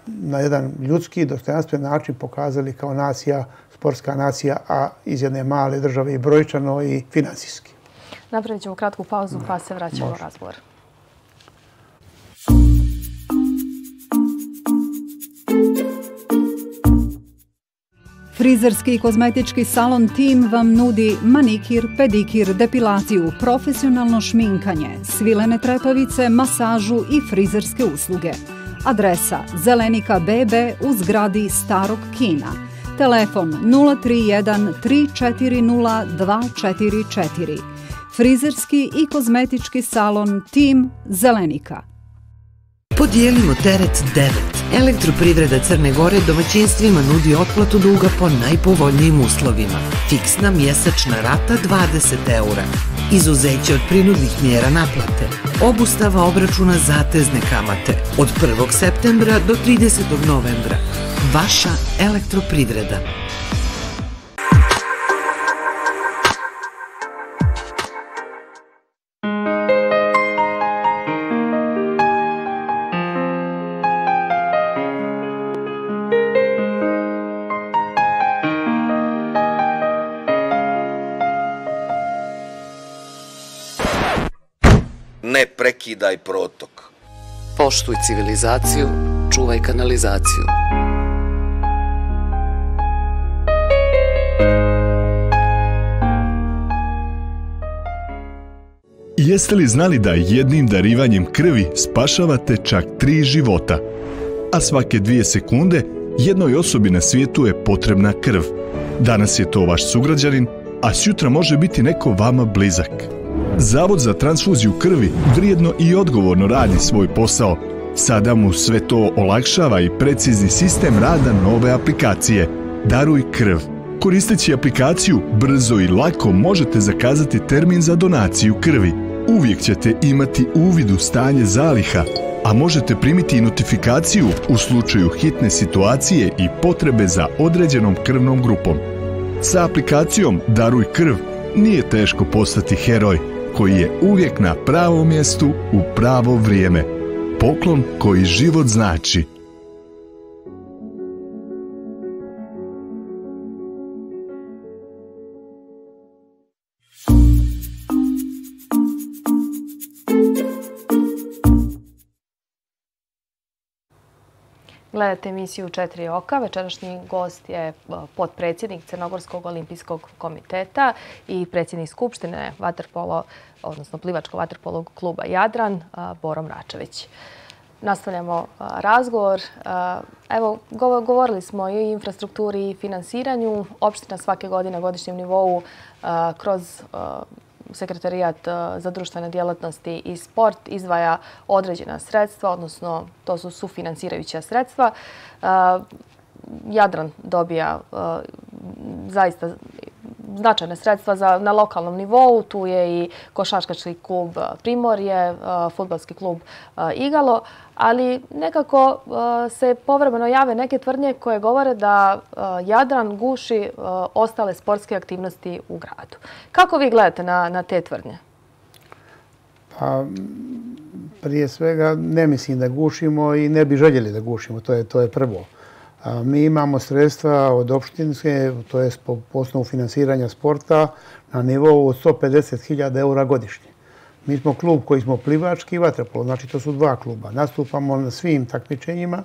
na jedan ljudski, dostojanstven način pokazali kao nacija, sportska nacija, a iz jedne male države i brojčano i finansijski. Napravit ćemo kratku pauzu pa se vraćamo u razgovor. Frizerski i kozmetički salon Tim vam nudi manikir, pedikir, depilaciju, profesionalno šminkanje, svilene trepavice, masažu i frizerske usluge. Adresa Zelenika BB u zgradi Starog kina. Telefon 031 340 244. Frizerski i kozmetički salon Tim Zelenika. Podijelimo teret 9. Elektroprivreda Crne Gore domaćinstvima nudi otplatu duga po najpovoljnijim uslovima. Fiksna mjesečna rata 20 €. Izuzeće od prinudnih mjera naplate. Obustava obračuna zatezne kamate. Od 1. septembra do 30. novembra. Vaša elektroprivreda. Ne prekidaj protok. Poštuj civilizaciju, čuvaj kanalizaciju. Jeste li znali da jednim darivanjem krvi spašavate čak 3 života? A svake 2 sekunde jednoj osobi na svijetu je potrebna krv. Danas je to vaš sugrađanin, a sutra može biti neko vama blizak. Zavod za transfuziju krvi vrijedno i odgovorno radi svoj posao. Sada mu sve to olakšava i precizni sistem rada nove aplikacije Daruj krv. Koristeći aplikaciju, brzo i lako možete zakazati termin za donaciju krvi. Uvijek ćete imati uvid u stanje zaliha, a možete primiti i notifikaciju u slučaju hitne situacije i potrebe za određenom krvnom grupom. Sa aplikacijom Daruj krv nije teško postati heroj koji je uvijek na pravom mjestu u pravo vrijeme. Poklon koji život znači. Gledate emisiju 4 oka. Večerašnji gost je potpredsjednik Crnogorskog olimpijskog komiteta i predsjednik Skupštine vaterpolo, odnosno plivačko vaterpolo kluba Jadran, Boro Mračević. Nastavljamo razgovor. Evo, govorili smo i o infrastrukturi i finansiranju. Opština svake godine na godišnjem nivou kroz Sekretarijat za društvene djelatnosti i sport izdvaja određena sredstva, odnosno to su sufinansirajuća sredstva. Jadran dobija zaista značajne sredstva na lokalnom nivou. Tu je i košarkaški klub Primorje, fudbalski klub Igalo, ali nekako se povremeno jave neke tvrdnje koje govore da Jadran guši ostale sportske aktivnosti u gradu. Kako vi gledate na te tvrdnje? Pa, prije svega ne mislim da gušimo i ne bi željeli da gušimo, to je prvo. Mi imamo sredstva od opštinske, to je po osnovu finansiranja sporta, na nivou od 150.000 € godišnje. Mi smo klub koji smo plivački i vaterpolo, znači to su 2 kluba. Nastupamo na svim takmičenjima,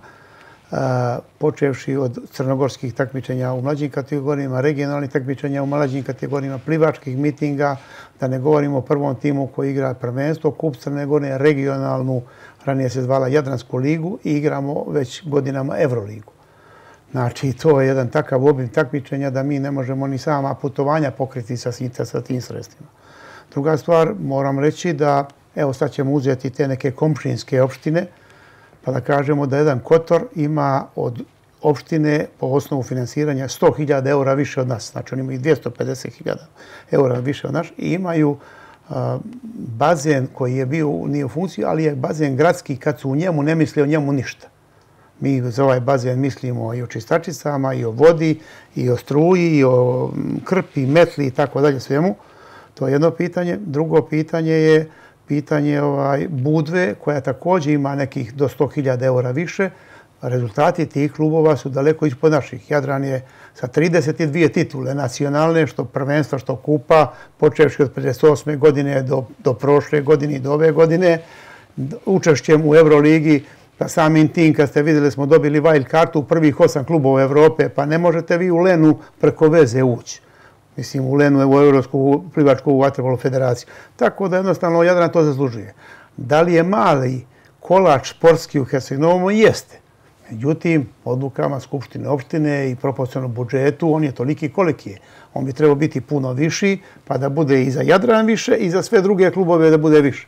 počevši od crnogorskih takmičenja u mlađim kategorijama, regionalnih takmičenja u mlađim kategorijama, plivačkih mitinga, da ne govorimo o prvom timu koji igra prvenstvo, Kup Crne Gore, regionalnu, ranije se zvala Jadransku ligu i igramo već godinama Euroligu. Znači, to je jedan takav obim takmičenja da mi ne možemo ni sama putovanja pokriti sa tim sredstvima. Druga stvar, moram reći da, evo sad ćemo uzeti te neke komšinske opštine, pa da kažemo da jedan Kotor ima od opštine po osnovu finansiranja 100.000 eura više od nas. Znači oni imaju 250.000 eura više od nas i imaju bazen koji je bio nije u funkciji, ali je bazen gradski kad su u njemu ne misle o njemu ništa. Mi za ovaj bazen mislimo i o čistačicama, i o vodi, i o struji, i o krpi, metli i tako dalje svemu. To je jedno pitanje. Drugo pitanje je pitanje Budve, koja također ima nekih do 100.000 eura više. Rezultati tih klubova su daleko ispod naših. Jadran je sa 32 titule nacionalne, što prvenstva, što kupa, počevši od 58. godine do prošle godine i do ove godine, učešćem u Euroligi, pa samim tim, kad ste vidjeli, smo dobili wild kartu u prvih 8 klubova Evrope, pa ne možete vi u Lenu preko veze ući. Mislim, u Lenu je u Evropsku plivačku vaterpolo federaciju. Tako da jednostavno Jadran to zaslužuje. Da li je mali kolač sportski u Herceg-Novom? Jeste. Međutim, odlukama Skupštine opštine i proporcionalnom budžetu, on je toliki koliki je. On bi trebao biti puno viši, pa da bude i za Jadran više i za sve druge klubove da bude više.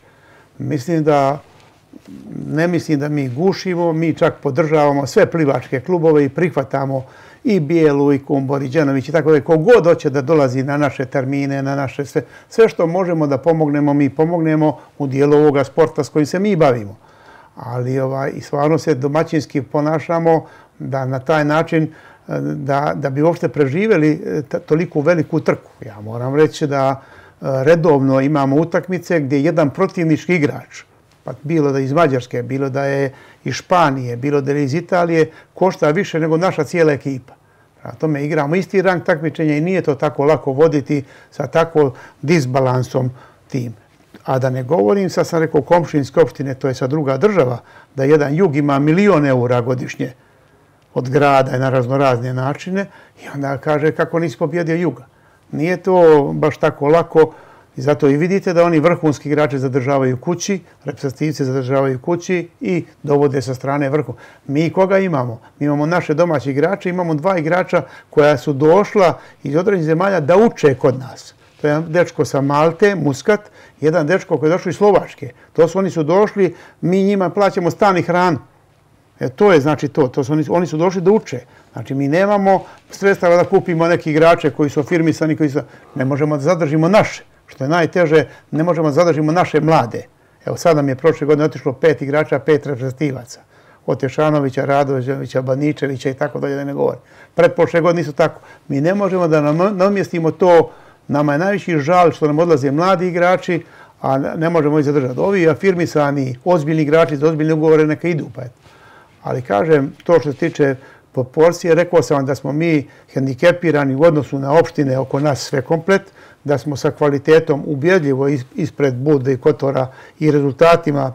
Ne mislim da mi gušimo, mi čak podržavamo sve plivačke klubove i prihvatamo i Bijelu, i Kumbor, i Đanović i tako da kogod hoće da dolazi na naše termine, na naše sve što možemo da pomognemo, mi pomognemo u dijelu ovoga sporta s kojim se mi bavimo. Ali i stvarno se domaćinski ponašamo da na taj način da bi uopšte preživjeli toliku veliku trku. Ja moram reći da redovno imamo utakmice gdje jedan protivnički igrač, pa bilo da je iz Mađarske, bilo da je iz Španije, bilo da je iz Italije, košta više nego naša cijela ekipa. Prema tome igramo isti rang takmičenja i nije to tako lako voditi sa takvom disbalansom tim. A da ne govorim, sad sam rekao komšinske opštine, to je sad druga država, da jedan jug ima 1.000.000 eura godišnje od grada i na raznorazne načine i onda kaže kako nisi pobjedio juga. Nije to baš tako lako i zato i vidite da oni vrhunski igrače zadržavaju kući, reprezentativci zadržavaju kući i dovode sa strane vrhu. Mi koga imamo? Mi imamo naše domaće igrače, imamo 2 igrača koja su došla iz određenih zemalja da uče kod nas. To je jedan dečko sa Malte, Muscat, jedan dečko koji je došao iz Slovačke. Oni su došli, mi njima plaćamo stan i hranu. To je znači to. Oni su došli da uče. Znači mi nemamo sredstava da kupimo neki igrače koji su afirmisani, ne možemo da zadržimo naše. Što je najteže, ne možemo da zadržimo naše mlade. Evo sad nam je prošle godine otišlo 5 igrača, 5 reprezentativaca. Od Tešanovića, Radovića, Baničevića i tako dalje da ne govorim. Pretprošle godine nisu tako. Mi ne možemo da namjestimo to. Nama je najveći žal što nam odlaze mladi igrači, a ne možemo ih zadržati. Ovi afirmisani, ozbiljni igrači za ozbiljne ugovore neka idu. Ali kažem, to što se tiče proporcije, rekao sam vam da smo mi hendikepirani u odnosu na opštine oko nas sve komplet, da smo sa kvalitetom ubjedljivo ispred Budve i Kotora i rezultatima,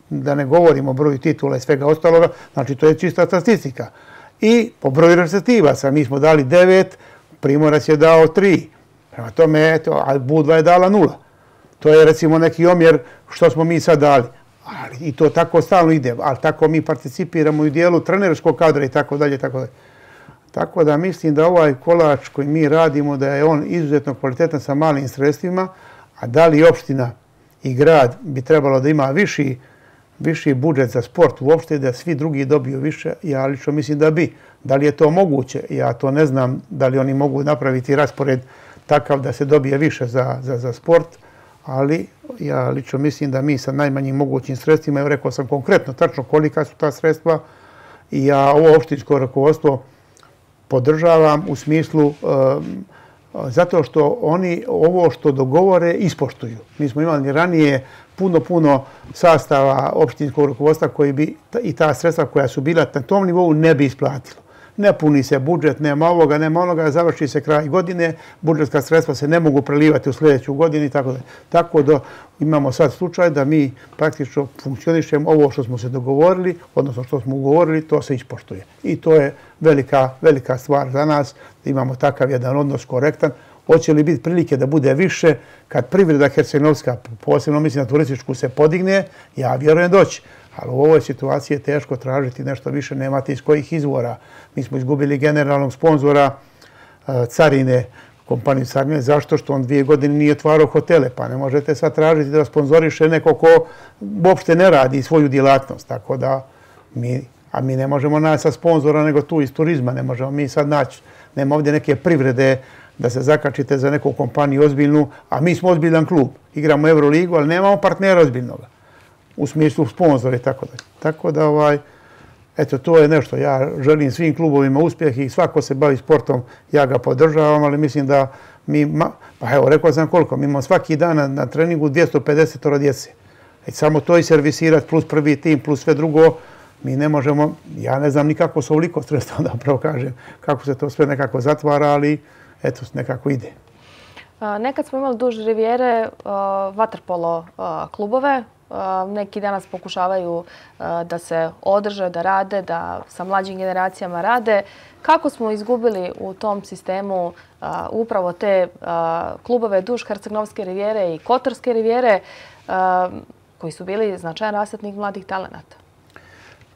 da ne govorimo o broju titula i svega ostaloga, znači to je čista statistika. I po broju reprezentativaca, mi smo dali 9, Primorac je dao 3. Prema tome, a Budva je dala 0. To je recimo neki omjer što smo mi sad dali. I to tako stalno ide, ali tako mi participiramo u dijelu trenerskog kadra i tako dalje. Tako da mislim da ovaj kolač koji mi radimo, da je on izuzetno kvalitetan sa malim sredstvima, a da li opština i grad bi trebalo da ima viši budžet za sport uopšte, da svi drugi dobiju više, ja lično mislim da bi. Da li je to moguće? Ja to ne znam da li oni mogu napraviti raspored takav da se dobije više za sport, ali ja lično mislim da mi sa najmanjim mogućim sredstvima, evo rekao sam konkretno, tačno kolika su ta sredstva i ja ovo opštinsko rukovodstvo podržavam u smislu zato što oni ovo što dogovore ispoštuju. Mi smo imali ranije puno sastava opštinskog rukovodstva koji bi i ta sredstva koja su bila na tom nivou ne bi isplatilo. Ne puni se budžet, nema onoga, završi se kraj godine, budžetska sredstva se ne mogu prelivati u sljedeću godinu i tako da. Tako da imamo sad slučaj da mi praktično funkcionišemo ovo što smo se dogovorili, odnosno što smo ugovorili, to se ispoštuje. I to je velika stvar za nas, da imamo takav jedan odnos korektan. Hoće li biti prilike da bude više kad privreda herceg-novska, posebno mislim na turističku, se podigne, ja vjerujem doći. Ali u ovoj situaciji je teško tražiti nešto više, nemate iz kojih izvora. Mi smo izgubili generalnog sponzora Carine, kompaniju Carine, zašto? Što on 2 godine nije otvarao hotele, pa ne možete sad tražiti da sponzoriše neko ko uopšte ne radi svoju djelatnost. Tako da mi A mi ne možemo naći sa sponzora nego tu iz turizma. Ne možemo mi sad naći, nema ovdje neke privrede da se zakačite za neku kompaniju ozbiljnu, a mi smo ozbiljan klub. Igramo Euroligu, ali nemamo partnera ozbiljnoga. U smislu sponzora i tako dalje. Tako da, eto, to je nešto. Ja želim svim klubovima uspjeh i svako se bavi sportom, ja ga podržavam, ali mislim da pa evo, rekao sam koliko, mi imamo svaki dan na treningu 250 djece. Samo to i servisirati, plus prvi tim, plus sve drugo, mi ne možemo, ja ne znam nikako se ovoliko sredstva, da upravo kažem, kako se to sve nekako zatvara, ali eto, nekako ide. Nekad smo imali duž rivijere vaterpolo klubove. Neki danas pokušavaju da se održe, da rade, da sa mlađim generacijama rade. Kako smo izgubili u tom sistemu upravo te klubove duž Herceg-Novske rivijere i Kotorske rivijere koji su bili značajan rasadnik mladih talenata?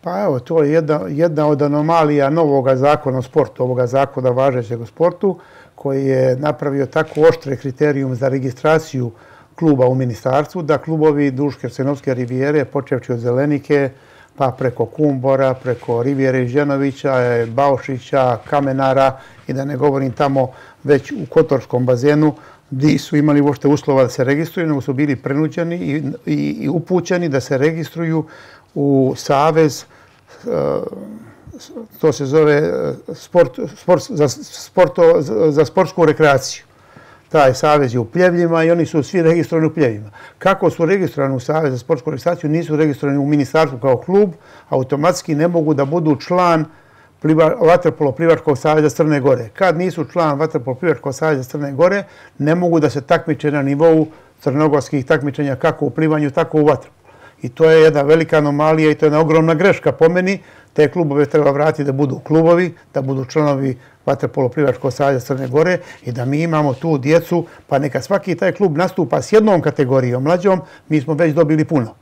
Pa evo, to je jedna od anomalija novog zakona o sportu, ovoga zakona važećeg o sportu, koji je napravio tako oštre kriterijum za registraciju kluba u ministarstvu, da klubovi duž Herceg-Novske rivijere, počevši od Zelenike, pa preko Kumbora, preko Rivijere Ženovića, Baušića, Kamenara i da ne govorim tamo već u Kotorskom bazenu, gdje su imali uopšte uslova da se registruju, nego su bili prenuđeni i upućeni da se registruju u Savez, to se zove za sportsku rekreaciju. Taj savez je u Pljevljima i oni su svi registrovani u Pljevljima. Kako su registrovani u Savez za sportsku registraciju, nisu registrovani u ministarstvu kao klub, automatski ne mogu da budu član Vaterpolo plivačkog saveza Crne Gore. Kad nisu član Vaterpolo plivačkog saveza Crne Gore, ne mogu da se takmiče na nivou crnogorskih takmičenja kako u plivanju, tako u vaterpolu. I to je jedna velika anomalija i to je jedna ogromna greška po meni. Te klubove treba vratiti da budu klubovi, da budu članovi Vaterpolo plivačkog saveza Crne Gore i da mi imamo tu djecu, pa neka svaki taj klub nastupa s jednom kategorijom mlađom, mi smo već dobili puno.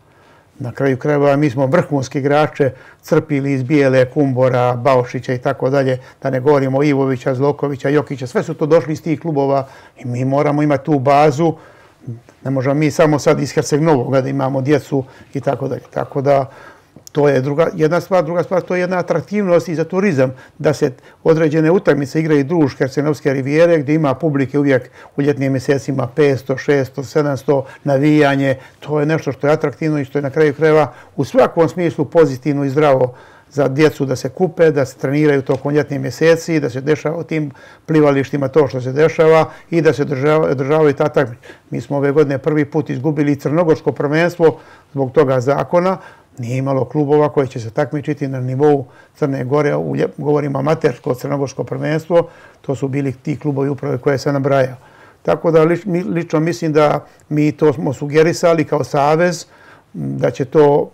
Na kraju krajeva mi smo vrhunski igrače crpili iz Bijele, Kumbora, Baušića i tako dalje, da ne govorimo Ivovića, Zlokovića, Jokića, sve su to došli iz tih klubova i mi moramo imati tu bazu. Ne možemo mi samo sad iz Herceg-Novoga da imamo djecu i tako dalje. Tako da to je jedna stvar. Druga stvar, to je jedna atraktivnost i za turizam da se određene utakmice igraju duž Herceg-Novske rivijere gdje ima publike uvijek u ljetnim mjesecima 500, 600, 700 navijanje. To je nešto što je atraktivno i što je na kraju krajeva u svakom smislu pozitivno i zdravo za djecu da se kupe, da se treniraju tokom ljetnih mjeseci, da se dešava u tim plivalištima to što se dešava i da se održavaju ta takmičenja. Mi smo ove godine prvi put izgubili crnogorsko prvenstvo zbog toga zakona. Nije imalo klubova koji će se takmičiti na nivou Crne Gore, govorimo amatersko crnogorsko prvenstvo, to su bili ti klubovi uprave koje se nabrajao. Tako da lično mislim da mi to smo sugerisali kao savez, da će to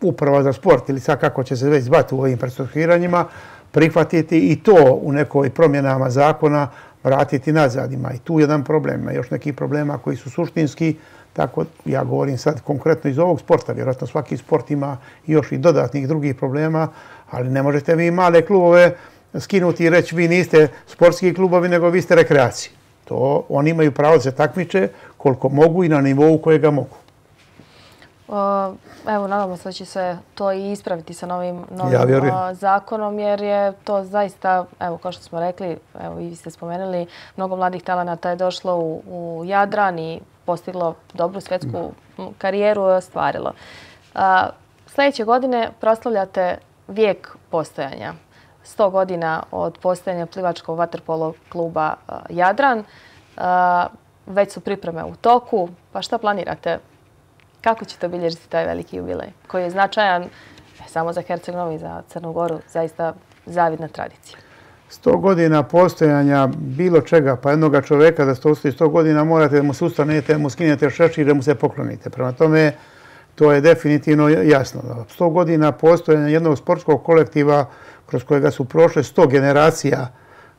uprava za sport ili sad kako će se već zvati u ovim prestrukturiranjima, prihvatiti i to u nekoj promjenama zakona vratiti nazad. Ima i tu jedan problem, ima još nekih problema koji su suštinski, tako ja govorim sad konkretno iz ovog sporta, vjerojatno svaki sport ima još i dodatnih drugih problema, ali ne možete vi male klubove skinuti i reći vi niste sportski klubovi nego vi ste rekreacije. To oni imaju pravo da se takmiče koliko mogu i na nivou kojega mogu. Evo, nadamo se da će se to i ispraviti sa novim zakonom, jer je to zaista, evo, kao što smo rekli, evo i vi ste spomenuli, mnogo mladih talenata je došlo u Jadran i postiglo dobru svjetsku karijeru i ostvarilo. Sljedeće godine proslavljate vijek postojanja. 100 godina od postojanja plivačkog vaterpolo kluba Jadran. Već su pripreme u toku. Pa šta planirate? Kako ćete obilježiti taj veliki jubilej koji je značajan samo za Herceg-Novi i za Crnu Goru, zaista zavidna tradicija? 100 godina postojanja bilo čega, pa jednoga čoveka da stoji 100 godina morate da mu se ustanete, da mu skinete šešir, da mu se poklonite. Prema tome, to je definitivno jasno. 100 godina postojanja jednog sportskog kolektiva kroz kojega su prošle 100 generacija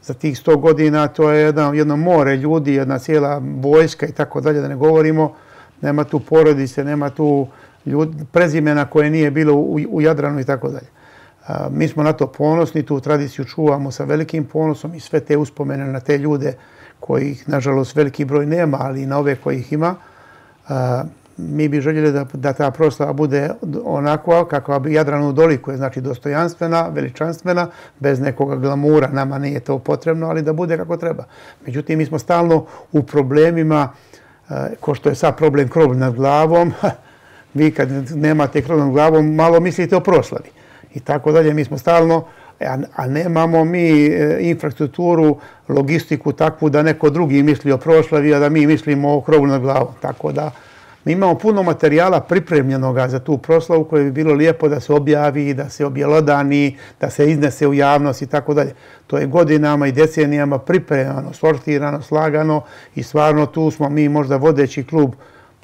za tih 100 godina, to je jedno more ljudi, jedna cijela vojska i tako dalje, da ne govorimo. Nema tu porodice, nema tu prezimena koje nije bilo u Jadranu i tako dalje. Mi smo na to ponosni, tu tradiciju čuvamo sa velikim ponosom i sve te uspomene na te ljude kojih, nažalost, veliki broj nema, ali i na ove kojih ima. mi bi željeli da ta proslava bude onakva kakva bi Jadranu dolikuje, znači dostojanstvena, veličanstvena, bez nekog glamura. Nama nije to potrebno, ali da bude kako treba. Međutim, mi smo stalno u problemima, ko što je sad problem krov nad glavom. Vi kad nemate krov nad glavom, malo mislite o proslavi. I tako dalje, mi smo stalno, a nemamo mi infrastrukturu, logistiku takvu da neko drugi misli o proslavi, a da mi mislimo o krovu nad glavom. Tako da mi imamo puno materijala pripremljenoga za tu proslavu koje bi bilo lijepo da se objavi, da se objelodani, da se iznese u javnost i tako dalje. To je godinama i decenijama pripremljeno, sortirano, slagano i stvarno tu smo mi možda vodeći klub,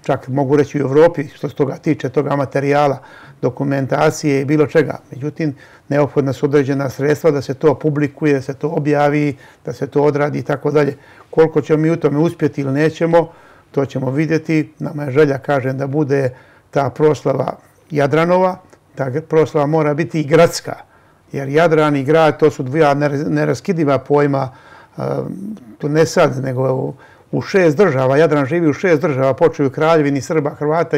čak mogu reći u Evropi što se toga tiče, toga materijala, dokumentacije i bilo čega. Međutim, neophodna su određena sredstva da se to publikuje, da se to objavi, da se to odradi i tako dalje. Koliko ćemo mi u tome uspjeti ili nećemo, to ćemo vidjeti. Nama je želja, kažem, da bude ta proslava Jadranova. Ta proslava mora biti i gradska. Jer Jadran i grad, to su dva neraskidiva pojma, to ne sad, nego u 6 država. Jadran živi u 6 država, počeo u Kraljevini, Srba, Hrvata,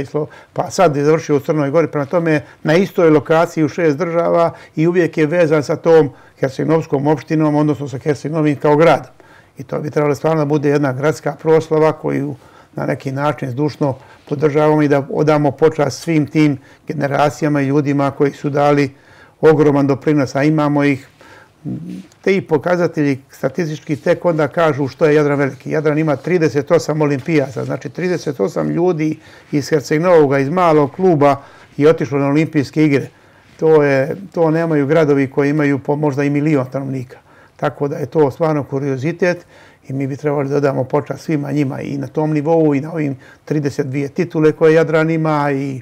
pa sad je završio u Crnoj Gori. Prema tome, na istoj lokaciji u 6 država i uvijek je vezan sa tom Herceg-Novskom opštinom, odnosno sa Herceg-Novim kao gradom. I to bi trebalo stvarno da bude jedna gradska proslava koju na neki način zdušno podržavamo i da odamo počast svim tim generacijama i ljudima koji su dali ogroman doprinos, a imamo ih. Ti pokazatelji statistički tek onda kažu što je Jadran veliki. Jadran ima 38 olimpijaca, znači 38 ljudi iz Herceg-Novoga, iz malog kluba je otišlo na olimpijske igre. To nemaju gradovi koji imaju po možda i 1 milion stanovnika. Tako da je to stvarno kuriozitet i mi bi trebali da damo počast svima njima i na tom nivou i na ovim 32 titule koje Jadran ima i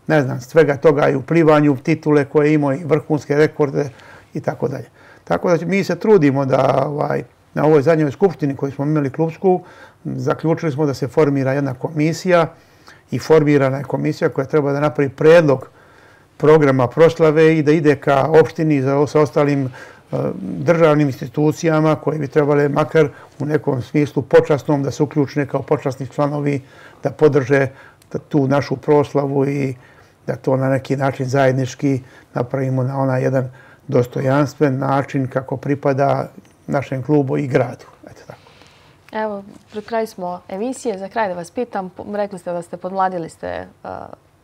ne znam, svega toga i u plivanju titule koje ima i vrhunske rekorde i tako dalje. Tako da mi se trudimo da na ovoj zadnjoj skupštini koju smo imali klubsku, zaključili smo da se formira jedna komisija i formirana je komisija koja treba da napravi predlog programa proslave i da ide ka opštini sa ostalim državnim institucijama koje bi trebale makar u nekom smislu počasnom da se uključne kao počasni članovi, da podrže tu našu proslavu i da to na neki način zajednički napravimo na onaj jedan dostojanstven način kako pripada našem klubu i gradu. Eto tako. Evo, pred kraj smo emisije. Za kraj da vas pitam, rekli ste da ste podmladili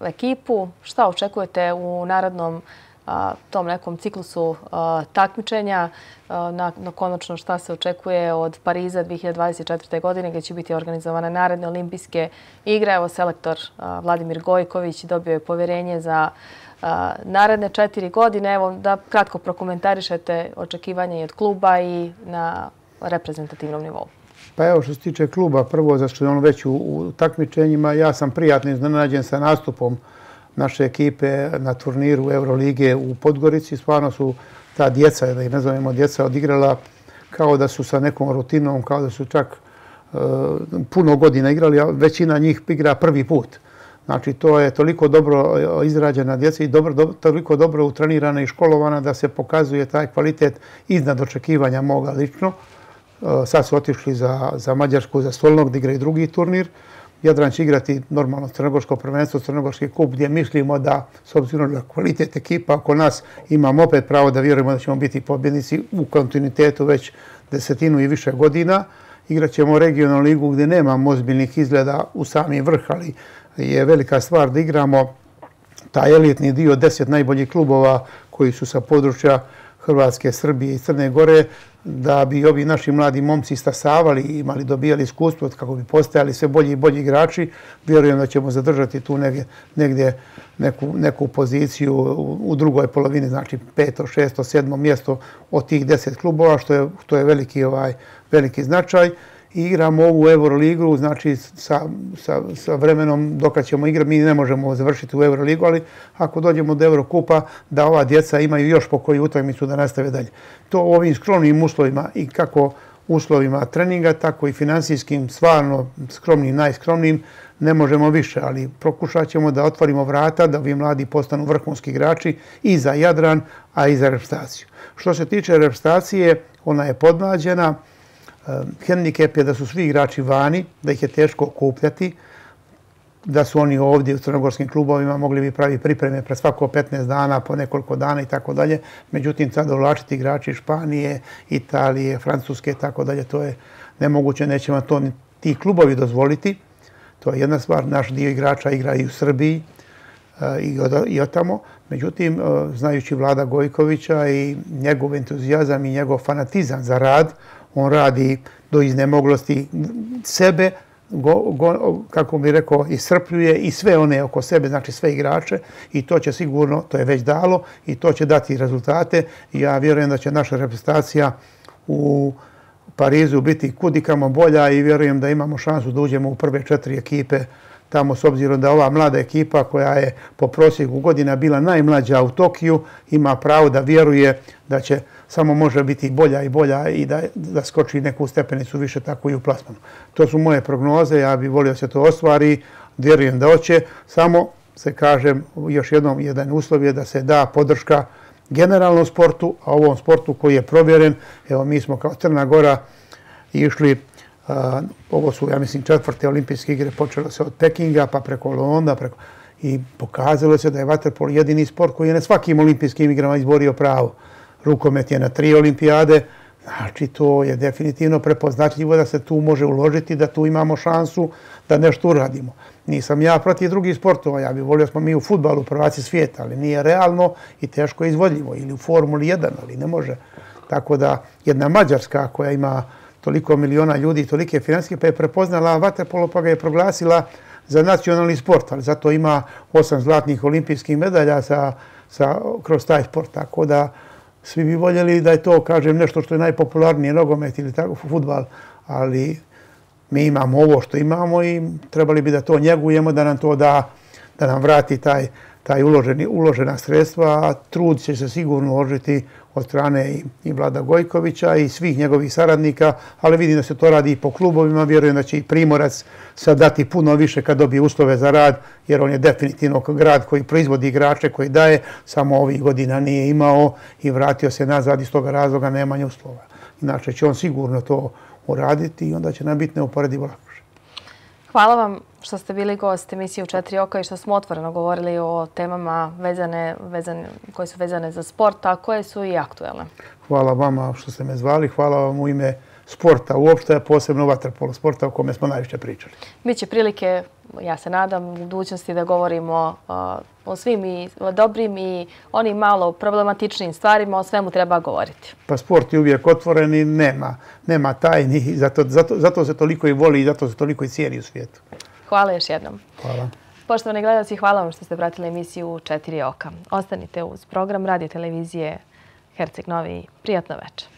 ekipu. Šta očekujete u narednom tom nekom ciklusu takmičenja? Konačno šta se očekuje od Pariza 2024. godine gdje će biti organizovane naredne olimpijske igre? Evo, selektor Vladimir Gojković dobio je povjerenje za naredne 4 godine. Evo, da kratko prokomentarišete očekivanje i od kluba i na reprezentativnom nivou. Pa evo, što se tiče kluba, prvo zašto je on već u takmičenjima, ja sam prijatno iznenađen sa nastupom naše ekipe na turniru Eurolige u Podgorici. Stvarno su ta djeca, da ih nazovemo djeca, odigrala kao da su sa nekom rutinom, kao da su čak puno godina igrali, a većina njih igra prvi put. Znači, to je toliko dobro izrađena djeca i toliko dobro utrenirana i školovana da se pokazuje taj kvalitet iznad očekivanja moga lično. Sad su otišli za Mađarsku, za Solnog, da igraju drugi turnir. Jadran će igrati normalno crnogorsko prvenstvo, crnogorski kup, gdje mislimo da, s obzirom na kvalitet ekipa oko nas, imamo opet pravo da vjerujemo da ćemo biti pobjednici u kontinuitetu već 10 i više godina. Igrat ćemo regionalnu ligu gdje nemamo ozbiljnih izgleda u sami vrh, ali je velika stvar da igramo taj elitni dio 10 najboljih klubova koji su sa područja Hrvatske, Srbije i Crne Gore, da bi ovi naši mladi momci stasavali i dobijali iskustvo kako bi postajali sve bolji i bolji igrači. Vjerujem da ćemo zadržati tu negdje neku poziciju u drugoj polovini, znači 5., 6., 7. mjesto od tih 10 klubova, što je veliki značaj. I igramo ovu Euroligu, znači sa vremenom dok ćemo igrati, mi ne možemo završiti u Euroligu, ali ako dođemo do Eurokupa, da ova djeca imaju još po koju utakmicu da nastave dalje. To u ovim skromnim uslovima i kako uslovima treninga, tako i finansijskim, stvarno skromnim, najskromnim, ne možemo više, ali pokušat ćemo da otvorimo vrata, da ovi mladi postanu vrhunski igrači i za Jadran, a i za reprezentaciju. Što se tiče reprezentacije, ona je podmlađena. Hendikep je da su svi igrači vani, da ih je teško okupljati. da su oni ovdje u crnogorskim klubovima, mogli bi pravi pripreme pred svako 15 dana, po nekoliko dana i tako dalje. Međutim, sad dovlačiti igrači Španije, Italije, Francuske i tako dalje, to je nemoguće, neće vam to ti klubovi dozvoliti. To je jedna stvar, naš dio igrača igra i u Srbiji i od tamo. Međutim, znajući Vlada Gojkovića i njegov entuzijazam i njegov fanatizam za rad, on radi do iznemoglosti sebe, kako bih rekao, iscrpljuje i sve one oko sebe, znači sve igrače, i to će sigurno, to je već dalo i to će dati rezultate. I ja vjerujem da će naša reprezentacija u Parizu biti kudikamo bolja i vjerujem da imamo šansu da uđemo u prve 4 ekipe tamo, s obzirom da ova mlada ekipa koja je po prosjeku godina bila najmlađa u Tokiju ima pravo da vjeruje da će samo može biti bolja i bolja i da skoči neku stepenicu više, tako i u plasmanu. To su moje prognoze, ja bih volio da se to ostvari, vjerujem da hoće, samo se kažem još jednom, jedan uslov je da se da podrška generalnom sportu, a ovom sportu koji je provjeren. Evo, mi smo kao Crna Gora išli, ovo su, ja mislim, 4. olimpijske igre, počelo se od Pekinga, pa preko Londona, i pokazalo se da je vaterpolo jedini sport koji je na svakim olimpijskim igrama izborio pravo. Rukomet je na 3 olimpijade, znači to je definitivno prepoznatljivo da se tu može uložiti, da tu imamo šansu da nešto uradimo. Nisam ja protiv drugih sportova, ja bih volio smo mi u fudbalu prvaci svijeta, ali nije realno i teško izvodljivo, ili u Formuli 1, ali ne može. Tako da jedna Mađarska koja ima toliko miliona ljudi i tolike financijske, pa je prepoznala vaterpolo, pa ga je proglasila za nacionalni sport, ali zato ima 8 zlatnih olimpijskih medalja kroz taj sport. Tako da svi bi voljeli da je to, kažem, nešto što je najpopularnije, nogomet ili tako, fudbal, ali mi imamo ovo što imamo i trebali bi da to njegujemo, da nam to da nam vrati taj uložena sredstva, a trud će se sigurno uložiti od strane i Vlada Gojkovića i svih njegovih saradnika, ali vidim da se to radi i po klubovima, vjerujem da će i Primorac sad dati puno više kad dobije uslove za rad, jer on je definitivno grad koji proizvodi igrače, koji daje, samo ovih godina nije imao i vratio se nazad, iz toga razloga nemanje uslova. Inače će on sigurno to uraditi i onda će nam biti neuporedivo lakše. Hvala vam što ste bili gost emisije U 4 oka i što smo otvoreno govorili o temama koje su vezane za sport, a koje su i aktuelne. Hvala vama što ste me zvali, hvala vam u ime sporta uopšte, posebno vaterpolo sporta o kome smo najviše pričali. Biće prilike, ja se nadam, u budućnosti da govorimo o svim i dobrim i onim malo problematičnim stvarima, o svemu treba govoriti. Pa sport je uvijek otvoren i nema tajni, zato se toliko i voli i zato se toliko i cijeni u svijetu. Hvala još jednom. Hvala. Poštovani gledalci, hvala vam što ste pratili emisiju U 4 oka. Ostanite uz program radio televizije Herceg Novi. Prijatno večer.